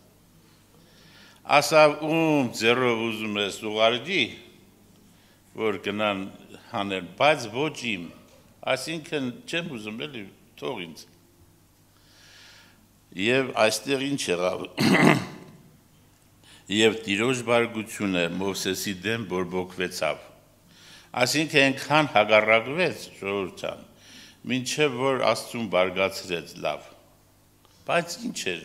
ասավ ում ձեռով ուզում ես ուղարկի, որ գնան հանեն, բայց ոչ իմ, այսինքն չեմ ուզում էլի թող ինձ։ Եվ այստեղ ինչ եղավ, եւ Տիրոջ բարգությունը Մովսեսի դեմ բորբոքվեցավ, այսինքն այնքան հակառակվեց ժողովուրդ ջան, մինչև որ Աստծուն բարգացրեց լավ, բայց ինչ էր,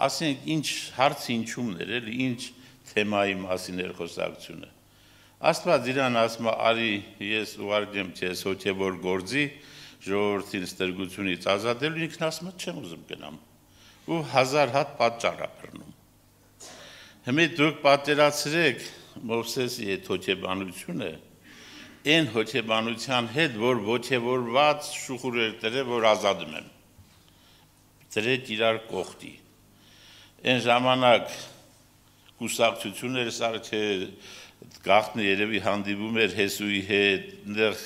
ասենք ինչ հարցը ինչումն էր, էլի ինչ թեմայի մասին էր խոսակցությունը։ Աստված իրան ասում է, արի ես ուղարկեմ քեզ հոգևոր գործի, ժողովրդին ստրգությունից ազատելու, ինքն ասում է, չեմ ուզում գնամ, ու 1000 հատ պատճառ է բռնում։ Հիմա դուք պատկերացրեք Մովսեսի այդ հոգեբանությունը, այն հոգեբանության հետ, որ ոգևորված շուխուր էր դրել, որ ազատում եմ։ Դրեք իրար կողքի։ Այն ժամանակ կուսակցություն էր սարքե գաղտնը երևի հանդիպում էր Հեսուի հետ, այնտեղ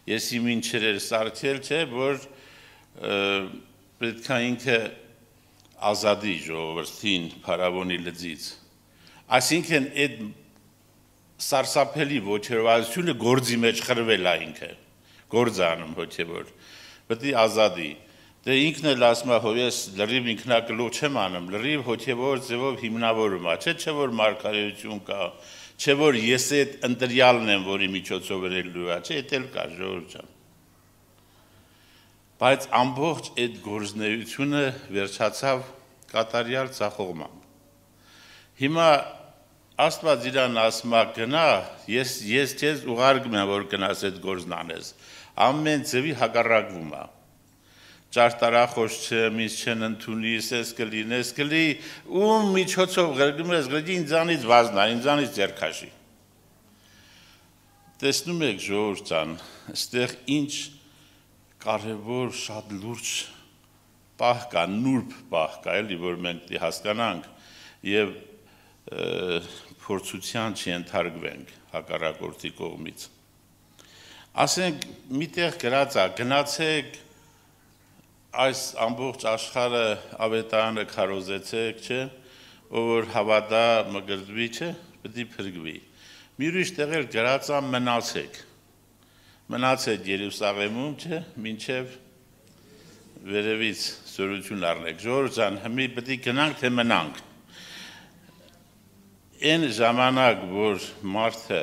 եսի մինչեր էր սարքել, չէ, որ պետք է ինքը ազատի ժողովրդին փարավոնի լծից։ Այսինքն այդ սարսափելի ոգևորվածությունը գործի մեջ խրվել է ինքը, գործ անում հոգևոր, պետք է ազատի։ Դե ինքն էլ ասում է, ես լրիվ ինքնակլող չեմ անում, լրիվ հոգևոր ձևով հիմնավորում է, չէ որ մարգարեություն կա, չէ որ ես այդ ընտրյալն եմ, որի միջոցով երելու է, չէ, այդ էլ կա ժողովուրդ ջան։ Բայց ամբողջ այդ գործունեությունը վերջացավ կատարյալ ցախողմամբ։ Հիմա Աստված իրան ասում է գնա, ես քեզ ուղարկում եմ, որ գնաս այդ գործն անես։ Ամեն ձևի հակառակվում է։ Ճարտարախոս չեմ, ինձ չեն ընդունի, ես կլի, ում միջոցով գրգում ես, գրգի ինձանից վազնա, ինձանից ձեռքաշի։ Տեսնում եք ժողովուրդ ջան, այստեղ ինչ կարևոր շատ լուրջ պահ կա, նուրբ պահ կա, էլի, որ մենք հասկանանք եւ փորձության չընթարկվենք հակառակորդի կողմից։ Ասենք միտեղ գրած է, գնացեք այս ամբողջ աշխարհը ավետարանը քարոզեցեք, չէ, ով որ հավատա մգրդվի, չէ, պետք է փրկվի։ Մի ուրիշ տեղեր գրած է մնացեք Երուսաղեմում, չէ, մինչև վերևից զորություն առնեք, ժողովուրդ ջան, հիմի պետք է գնանք թե մնանք։ Այն ժամանակ, որ մարդը,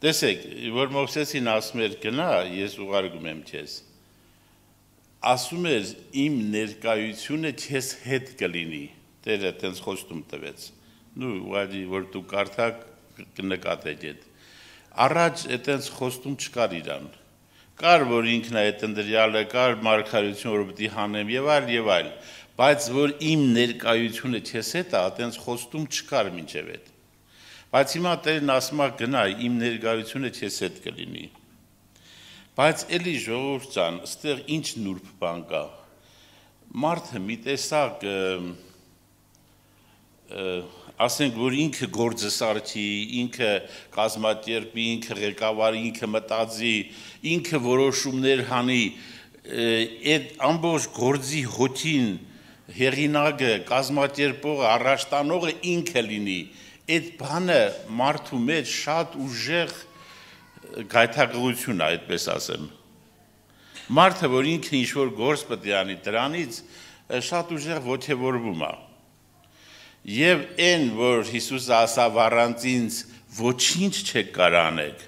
տեսեք, որ Մովսեսին ասում էր գնա, ես ուղարկում եմ քեզ, ասում էր իմ ներկայությունը քեզ հետ կլինի, Տերը տենց խոստում տվեց, ուղղակի որ դու կարդաք կնկատեք այդ, առաջ այդպես խոստում չկար իրան, կար որ ինքն է այդ ընտրյալը, կար մարգարեություն որ պիտի հանեմ եւ այլ, բայց որ իմ ներկայությունը քեզ հետ է, այդպես խոստում չկար մինչև այդ, բայց հիմա Տերն ասում է գնա, իմ ներկայությունը քեզ հետ կլինի, բայց էլի ժողովուրդ ջան, այստեղ ինչ նուրբ բան կա, մարդը մի տեսակ ասենք, որ ինքը գործը սարքի, ինքը կազմակերպի, ինքը ղեկավարի, ինքը մտածի, ինքը որոշումներ հանի, այդ ամբողջ գործի հոգին, հեղինակը, կազմակերպողը, առաջտանողը ինքը լինի, այդ բանը մարդու մեջ շատ ուժեղ գայթակղություն է, այդպես ասեմ։ Մարդը, որ ինքը ինչ-որ գործ պետք է անի, դրանից շատ ուժեղ ոգևորվում է։ Եվ այն, որ Հիսուսը ասավ առանց ինձ ոչինչ չեք կարող անել,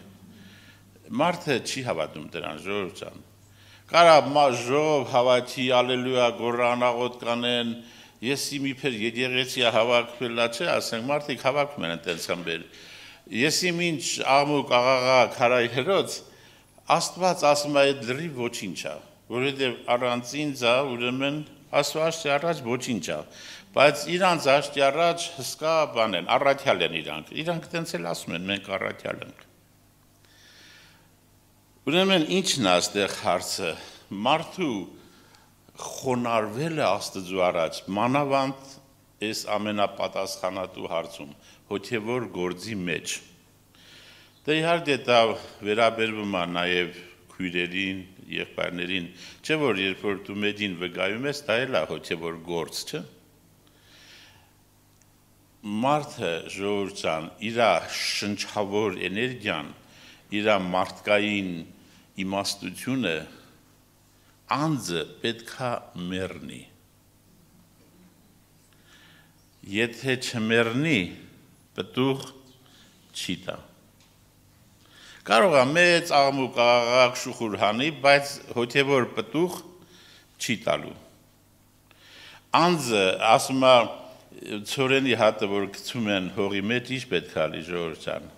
մարդը չի հավատում դրան, ժողովուրդ ջան։ Կարա ժողով հավաքի, ալելույա, գոռանաղոտ կանեն, ես մի փեր եկեղեցի հավաքվելա չէ, ասենք մարդիկ հավաքում են այդպես խմբեր։ Ես ինչ աղմուկ աղաղա քարայ հերոց, Աստված ասում է այդ լրիվ ոչինչ է, որովհետև առանց ինձ է, ուրեմն Աստված առաջ ոչինչ է։ Բայց իրանց աշտի առաջ հսկա բան են, առաքյալ են իրանք տենց էլ ասում են, մենք առաքյալ ենք։ Ուրեմն ինչն է այստեղ հարցը, մարդու խոնարհվելը Աստծու առաջ, մանավանդ այս ամենապատասխանատու հարցում, հոգևոր գործի մեջ։ Դե իհարկե դա վերաբերվում է նաև քույրերին, եղբայրներին, չէ՞ որ երբ որ դու մեկին վկայում ես, դա էլ է հոգևոր գործ, չէ՞։ Մարդը ժողովուրդ ջան, իր շնչավոր էներգիան, իր մարդկային իմաստությունը անձը պետքա մեռնի։ Եթե չմեռնի, պտուղ չի տա։ Կարող է մեծ աղմուկ աղաղակ շուխուր հանի, բայց հոգևոր պտուղ չի տալու։ Անձը ասում է ցորենի հատը, որ գցում են հողի մեջ, ինչ պետք է ալի ժողովուրդ ջան։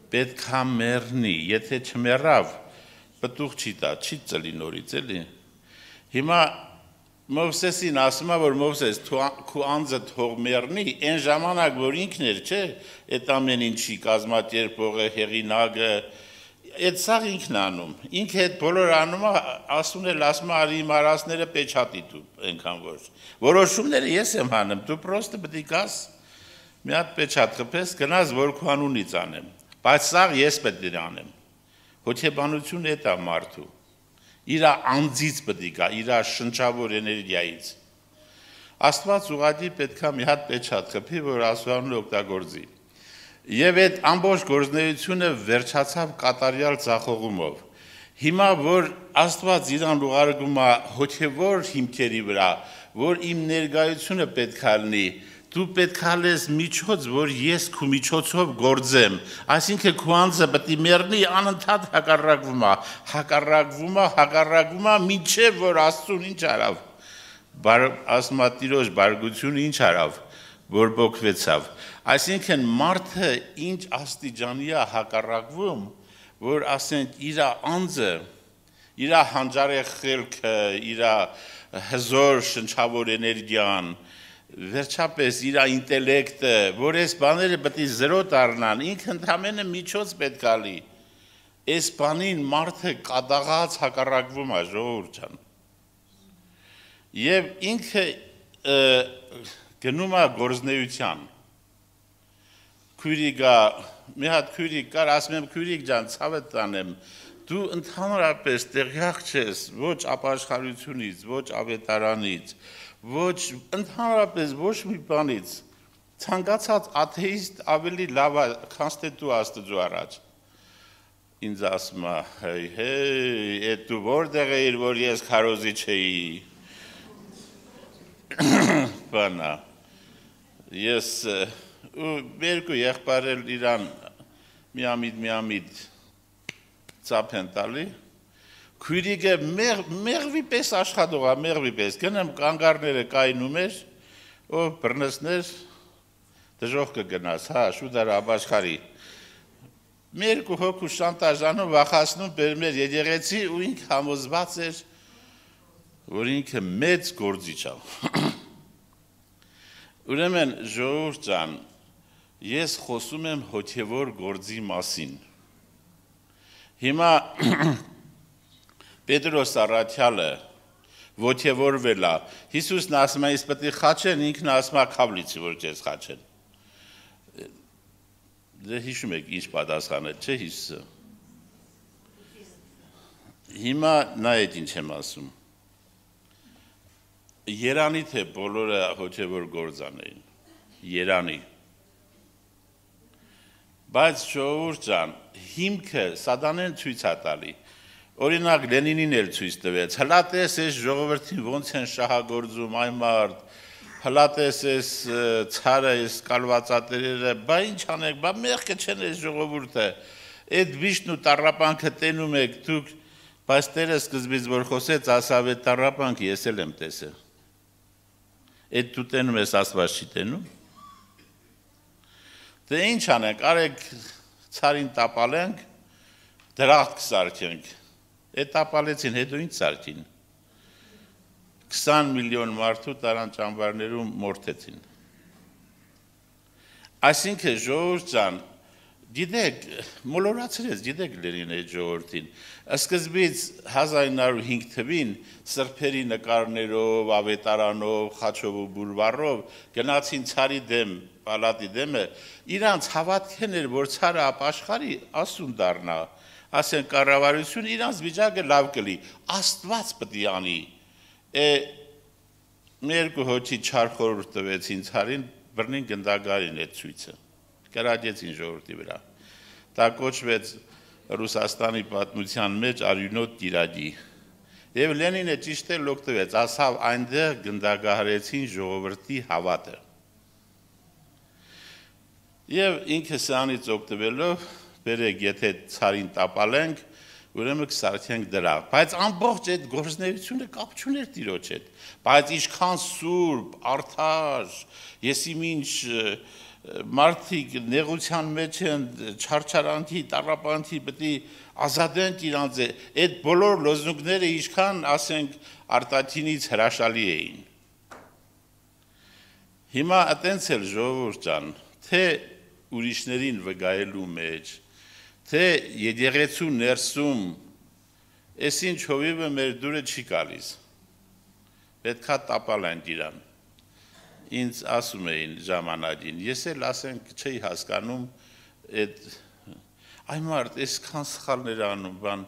Պետք է մեռնի, եթե չմեռավ, պտուղ չի տա, չի ծլի նորից, էլի։ Հիմա Մովսեսին ասում է, որ Մովսես քո անձը թող մեռնի, այն ժամանակ, որ ինքն էր, չէ, այդ ամեն ինչի կազմակերպողը, հեղինակը, այդ սաղ ինքն անում, ինքը այդ բոլոր անում է, ասում է, արի իմ արածները պեչատի դու, այնքան որ, որոշումները ես եմ հանում, դու պրոստը պետք է գաս, մի հատ պեչատ խփես, գնաս, որ քո անունից անեմ, բայց սաղ ես պետք է անեմ, հոգեբանությունը այդ է մարդու, իր անձից պետք է գա, իր շնչավոր էներգիայից, Աստված ուղղակի պետք է մի հատ պեչատ խփի, որ Աստվածն օգտագործի։ Եվ այդ ամբողջ գործունեությունը վերջացավ կատարյալ ձախողումով։ Հիմա որ Աստված իրան ուղարկում է հոգևոր հիմքերի վրա, որ իմ ներկայությունը պետք է լինի, դու պետք է լես միջոց, որ ես քո միջոցով գործեմ, այսինքն քո անձը պետք է մեռնի, անընդհատ հակառակվում է, մինչև որ Աստծուն ինչ արավ, ասում է Տիրոջ բարգությունը ինչ արավ, որ բոկվեցավ, այսինքն մարդը ինչ աստիճանի է հակառակվում, որ ասենք իր անձը, իր հանճարեղ խելքը, իր հզոր շնչավոր էներգիան, վերջապես իր ինտելեկտը, որ այս բաները պետք է զրո դառնան, ինքը ընդամենը միջոց պետք է լինի, այս բանին մարդը կատաղած հակառակվում է ժողովուրդ ջան, եւ ինքը գնում է գործնեության, քույրիկա, մի հատ քույրիկ կար, ասում եմ քույրիկ ջան, ցավը տանեմ, դու ընդհանրապես տեղյակ չես ոչ ապաշխարությունից, ոչ ավետարանից, ոչ ընդհանրապես ոչ մի բանից, ցանկացած աթեիստ ավելի լավ է, քան դու Աստծու առաջ։ Ինձ ասում է, այդ դու որտեղ էիր, որ ես քարոզի չէի, բանա ես ու երկու եղբայրել իրան միամիտ ծափ են տալի քույրիկը մեղվի պես աշխատող է մեղվի պես գնամ կանգառները կայնում էր ու բռնեցներ դժոխ կգնաս հա շուտար աբաշխարի Մեր հոգու շանտաժանում վախացնում բերմեր եկեղեցի ու ինք համոզված էր որ ինքը մեծ գործիչ է Ուրեմն ժողովուրդ ջան ես խոսում եմ հոգևոր գործի մասին Հիմա Պետրոս Արաքյալը ոգևորվել է Հիսուսն ասում է իսկ պետք է խաչեն ինքն ասում է քավլիցի որ քեզ խաչեն Դե հիշում եք ինչ պատասխանել, չէ Հիսուսը։ Հիմա նայեք ինչ եմ ասում։ Երանի թե բոլորը հոգևոր գործ անեին։ Երանի։ Բայց ժողովուրդ ջան, հիմքը սատանեն ցույց է տալի։ Օրինակ Լենինին էլ ցույց տվեց։ Հլատես այս ժողովրդին ոնց են շահագործում այ մարդ Հլատես ես ցարը ես կալվածատերերը, բա ինչ անեք, բա մեղքը չեն այս ժողովուրդը։ Այդ վիշտն ու տառապանքը տենում եք դուք, բայց Տերը սկզբից որ խոսեց, ասավ այդ տառապանքը ես էլ եմ տեսել։ Այդ դու տենում ես Աստված չի տենում։ Դե ինչ անենք, արեք ցարին տապալենք, դրախտ կսարքենք։ Այդ տապալեցին, հետո ինչ սարքին։ 20 միլիոն մարդու տարան ճամբարներում մորթեցին։ Այսինքն ժողովուրդ ջան, գիտեք, մոլորացրեց, գիտեք Լենին այդ ժողովրդին։ Սկզբից 1905 թվին սրբերի նկարներով, ավետարանով, խաչով ու բուլվարով գնացին ցարի դեմ, պալատի դեմը, իրանց հավատքն էր, որ ցարը ապաշխարի, ասուն դառնա, ասեն կառավարություն իրանց վիճակը լավ կլի, Աստված պետք է անի։ Մերկու հոչի չար խորհուրդ տվեցին ցարին բռնին գնդագարին այդ ցույցը կրակեցին ժողովրդի վրա դա կոչվեց Ռուսաստանի պատմության մեջ արյունոտ տիրագի եւ Լենինը ճիշտ է լոկտվեց ասավ այնտեղ գնդագարեցին ժողովրդի հավատը եւ ինքը սրանից օգտվելով բերեք եթե ցարին տապալենք Ուրեմն կսարքենք դրա, բայց ամբողջ այդ գործունեությունը կապ չուներ Տիրոջ հետ, բայց ինչքան սուրբ, արդար, եսի ինչ մարդիկ նեղության մեջ են, չարչարանքի, տառապանքի պետք է ազատենք իրանց, այդ բոլոր լոզունգները ինչքան ասենք արտաքինից հրաշալի էին։ Հիմա այտենց էլ ժողովուրդ ջան, թե ուրիշներին վգայելու մեջ Թե եկեղեցու ներսում այսինչ հովիվը մեր դուրը չի գալիս պետքա տապալենք իրան ինձ ասում էին ժամանակին ես էլ ասենք չի հասկանում այդ այ մարդ այսքան սխալներ անում բան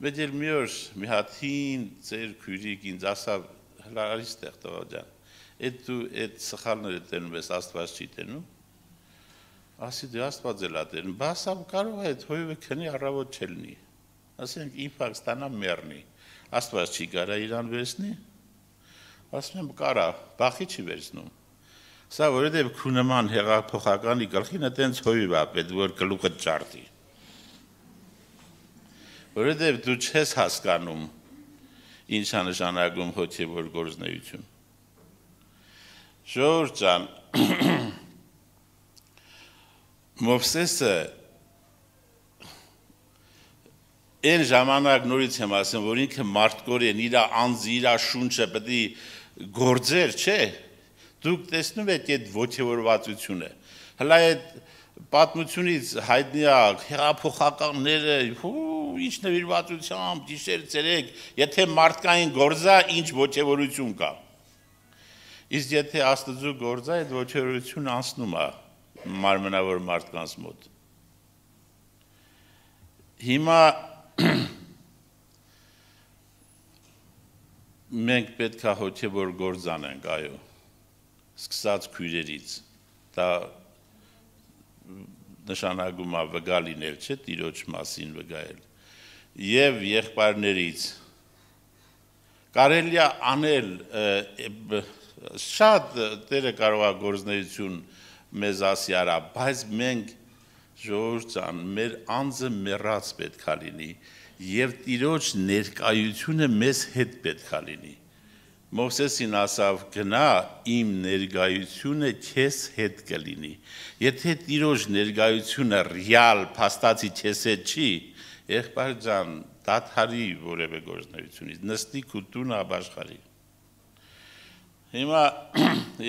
մեծ էլ մի օր մի հատ հին ծեր քույրիկ ինձ ասավ հլա արի ստեղ տղա ջան այդ դու այդ սխալները տենում ես Աստված չի տենում Ասի դե Աստված էլ ատեն, բասավ կարող է այդ հույվը քնի առավոտ չելնի, ասենք իպակ ստանա մերնի, Աստված չի կարա իրան վերցնի, ասում եմ կարա, բախի չի վերցնում, սա որովհետև քու նման հեղափոխականի գլխին այտենց հույվ է պետք որ գլուխը ճարտի, որովհետև դու չես հասկանում ինչ է նշանակում հոգևոր գործունեություն, ժողովուրդ ջան, Մովսեսը այն ժամանակ նորից եմ ասում, որ ինքը մարդկորեն իր անձը, իր շունչը պետք է գործեր, չէ։ Դուք տեսնում եք այդ ոգևորվածությունը։ Հլա այդ պատմությունից հայտնի է հեղափոխականները, ինչ նվիրվածությամբ, գիշեր ցերեկ, եթե մարդկային գործա, ինչ ոգևորություն կա։ Իսկ եթե Աստծո գործա, այդ ոգևորությունը անցնում է մարմնավոր մարդկանց մոտ։ Հիմա մենք պետք է հոգևոր գործ անենք, այո, սկսած քույրերից, դա նշանակում է վգա լինել, չէ, Տիրոջ մասին վգայել, և եղբայրներից, կարելի է անել շատ դերը կարող է գործնեություն մեզ ասի արա, բայց մենք ժողովուրդ ջան, մեր անձը մեռած պետք է լինի եւ Տիրոջ ներկայությունը մեզ հետ պետք է լինի։ Մովսեսին ասավ գնա իմ ներկայությունը քեզ հետ կլինի։ Եթե Տիրոջ ներկայությունը ռեալ փաստացի քեզ հետ չի, եղբայր ջան, դադարի որևէ գործնությունից, նստի քո տունը ապաշխարի։ Հիմա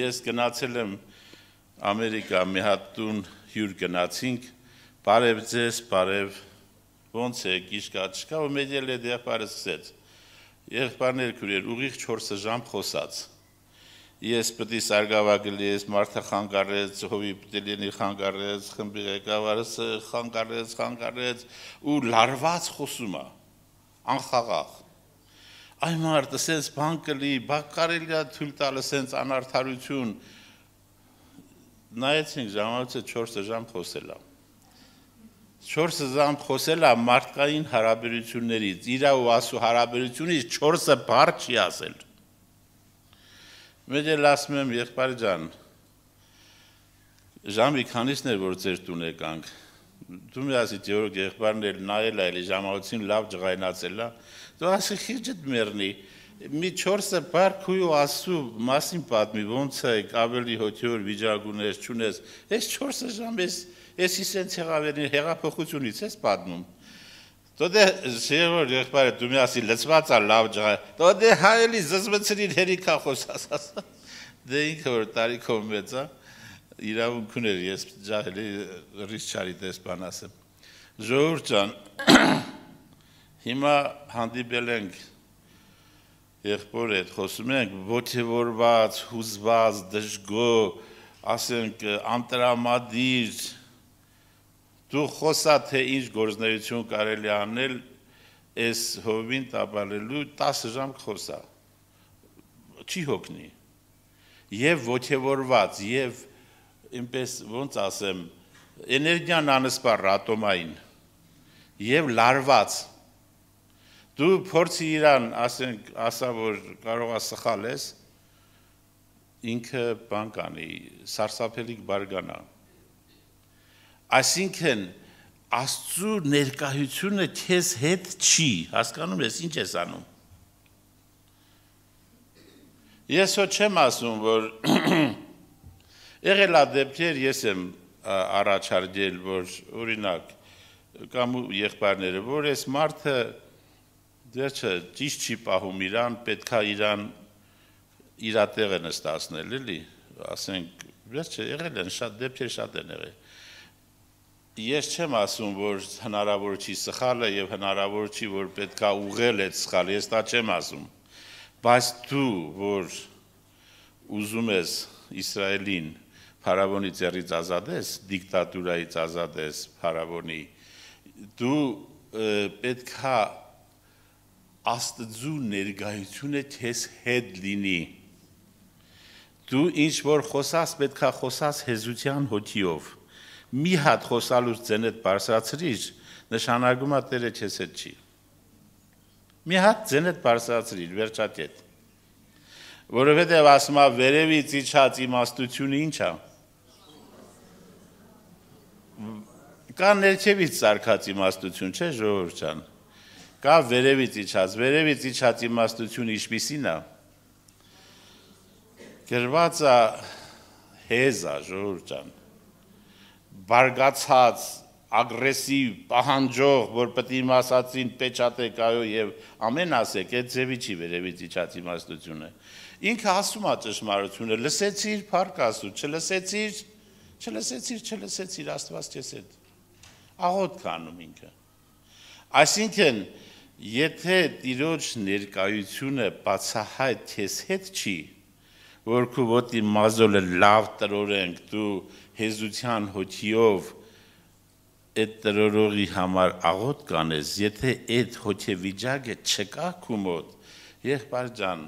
ես գնացել եմ Ամերիկա, մի հատ տուն հյուր գնացինք, բարև ձեզ, բարև, ոնց է, գիշկա, չկա, ու մեծ էլ է եղբայրը սկսեց։ Եղբայրներ քուրեր, ուղիղ 4 ժամ խոսած։ Ես պետք է սարգավագելի ես, մարդը խանգարեց, հովի պետք է խանգարեց, խմբի ղեկավարս խանգարեց, ու լարված խոսում է, անխաղաղ։ Այ մարդը սենց բան կլի, բակ կարելի է թույլ տալը սենց անարդարություն, նայեցինք ժամանոցը 4 ժամ խոսել է։ 4 ժամ խոսել է մարդկային հարաբերություններից, իրա ու ասու հարաբերությունից 4 բառ չի ասել։ Մեծ էլ ասում եմ եղբայր ջան, ժամի քանիսն էր որ ձեր տուն եկանք, դու մի ասի Գեորգ եղբայրն էլ նայել է, էլի ժամանոցին լավ ջղայնացել է, դու ասի խիղճդ մեռնի, մի 4 բառ քույու ասու մասին պատմի, ոնց է, ավելի հոգեոր վիճակում ես, չունես, ես 4 ժամ ես իսենց եղավերին հեղափոխությունից ես պատմում։ Դո դե շեյոր եղբայրը դու մի ասի լծված է լավ ջղայ, դո դե հայելի զզվցրին հերիքա խոսաս, դե ինքը որ տարիքով մեծ է, իրավունք ուներ ես ջահելի ռիսչարի տեսպան ասեմ։ Ժողովուրդ ջան, հիմա հանդիպել ենք եղբոր հետ խոսում ենք ոգևորված, հուզված, դժգո, ասենք անտրամադիր, դու խոսա թե ինչ գործնեություն կարելի անել այս հովին տապալելու 10 ժամ խոսա, չի հոգնի, և ոգևորված, և ինպես ոնց ասեմ, էներգիան անսպար ատոմային, և լարված, դու փորձի իրան ասա, որ կարող է սխալ ես, ինքը բան կանի, սարսափելիք բարգանա։ Այսինքն Աստծու ներկայությունը քեզ հետ չի, հասկանում ես ինչ ես անում։ Ես հո չեմ ասում, որ եղել է դեպքեր, ես եմ առաջարկել, որ օրինակ կամ եղբայրները, որ այս մարդը վերջը ճիշտ չի պահում իրան, պետք է իրան իր տեղը նստացնել, էլի, ասենք, վերջը եղել են շատ դեպքեր շատ են եղել։ Ես չեմ ասում, որ հնարավոր չի սխալը և հնարավոր չի, որ պետք է ուղղել այդ սխալը, ես դա չեմ ասում, բայց դու, որ ուզում ես Իսրայելին փարավոնի ձեռից ազատես, դիկտատուրայից ազատես փարավոնի, դու պետք է Աստծու ներկայությունը քեզ հետ լինի, դու ինչ որ խոսաս, պետք է խոսաս հեզության հոգիով, մի հատ խոսալուց ձենդ բարձրացրիր, նշանակում է Տերը քեզ հետ չի։ Մի հատ ձենդ բարձրացրիր, վերջակետ։ Որովհետև ասում է վերևից իջած իմաստությունը ինչ է։ Կա ներքևից սարքած իմաստություն, չէ՞ ժողովուրդ ջան։ Կա վերևից իջած իմաստությունը ինչպիսին է։ Գրված է հեզ է, ժողովուրդ ջան։ Բարգացած, ագրեսիվ, պահանջող, որ պետք է իմ ասածին պեչատեք այո և ամեն ասեք, այդ ձևի չի վերևից իջած իմաստությունը։ Ինքը ասում է ճշմարությունը, լսեցիր, փառք Աստծո, չլսեցիր, Աստված քեզ հետ։ Աղոթք անում ինքը։ Այսինքն, եթե Տիրոջ ներկայությունը բացահայտ քեզ հետ չի, որ քո ոտի մազոլը լավ տրորենք, դու հեզության հոգիով այդ տրորողի համար աղոթք կանես, եթե այդ հոգեվիճակը չկա քո մոտ, եղբայր ջան,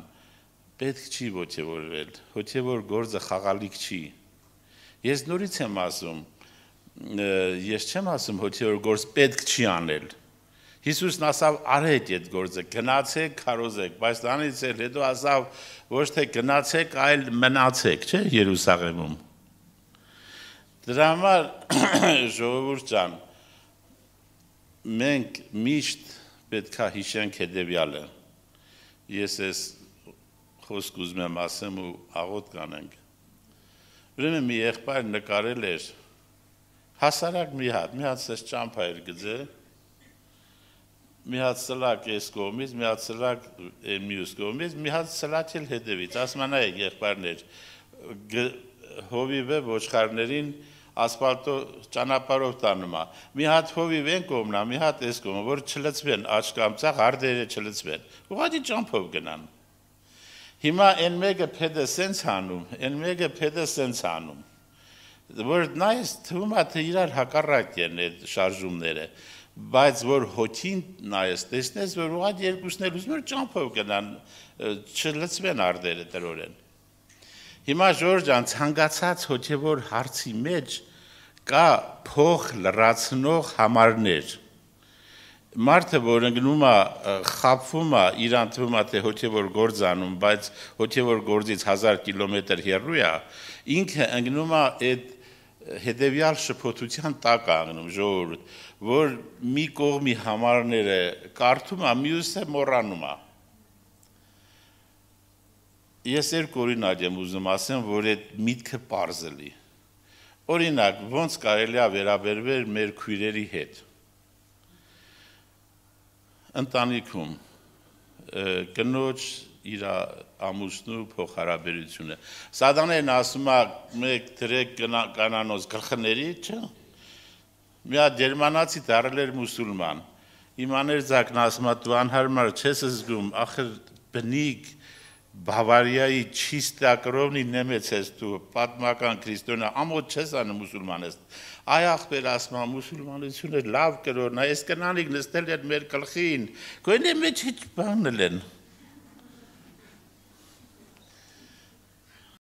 պետք չի ոգևորվել, հոգևոր գործը խաղալիք չի։ Ես նորից եմ ասում, ես չեմ ասում հոգևոր գործ պետք չի անել։ Հիսուսն ասավ արեք այդ գործը, գնացեք, քարոզեք, բայց դրանից հետո ասավ ոչ թե գնացեք, այլ մնացեք, չէ, Երուսաղեմում։ Դրա համար ժողովուրդ ջան, մենք միշտ պետք է հիշենք հետևյալը։ Ես այս խոսք ուզում եմ ասեմ ու աղոտ կանենք։ Ուրեմն մի եղբայր նկարել էր հասարակ մի հատ սես ճամփա էր գծել, մի հատ սլակ այս կողմից, մի հատ սլակ մյուս կողմից, մի հատ սլակ էլ հետևից, ասում են այ եղբայրներ, հովիվը ոչխարներին ասֆալտո ճանապարհով տանում է, մի հատ հովիվ են կողմնա, մի հատ այս կողմը, որ չլցվեն աչքամծախ, հարդերը չլցվեն, ուղղակի ճամփով գնան։ Հիմա այն մեկը փեդը սենց անում, այն մեկը փեդը սենց անում, որ նայես թվում է թե իրար հակառակ են այդ շարժումները, բայց որ հոգին նայես, տեսնես, որ ուղղակի երկուսն էլ ուզում են ճամփով գնան, չլցվեն արդերը տրորեն։ Հիմա Ժորժ ջան, ցանկացած հոգևոր հարցի մեջ կա փող լրացնող համարներ։ Մարդը, որ ընկնում է, խաբվում է, իրան թվում է թե հոգևոր գործ անում, բայց հոգևոր գործից 1000 կիլոմետր հեռու է, ինքը ընկնում է այդ հետևյալ շփոթության տակ անգնում ժողովուրդ, որ մի կողմի համարները կարդում է, մյուսը մոռանում է։ Ես երկու օրինակ եմ ուզում ասեմ, որ այդ միտքը պարզելի։ Օրինակ, ոնց կարելի է վերաբերվել մեր քույրերի հետ։ Ընտանիքում կնոջ իր ամուսնու փոխհարաբերությունը։ Սատանեն ասում է մեկ դրեք կանանոց գլխների, չէ՞։ Մի հատ գերմանացի դառել էր մուսուլման։ Իմաներ ձակն ասում է դու անհարմար չես զգում, ախր բնիկ Բավարիայի չիստակրովնի նեմեց ես դու պատմական քրիստոնյա ամոթ չես անում մուսուլման ես։ Այ ախպեր ասում է մուսուլմանությունը լավ կրորն է, այս կնանիկ նստել են մեր գլխին։ Գոնե մեջ ինչ բանել են։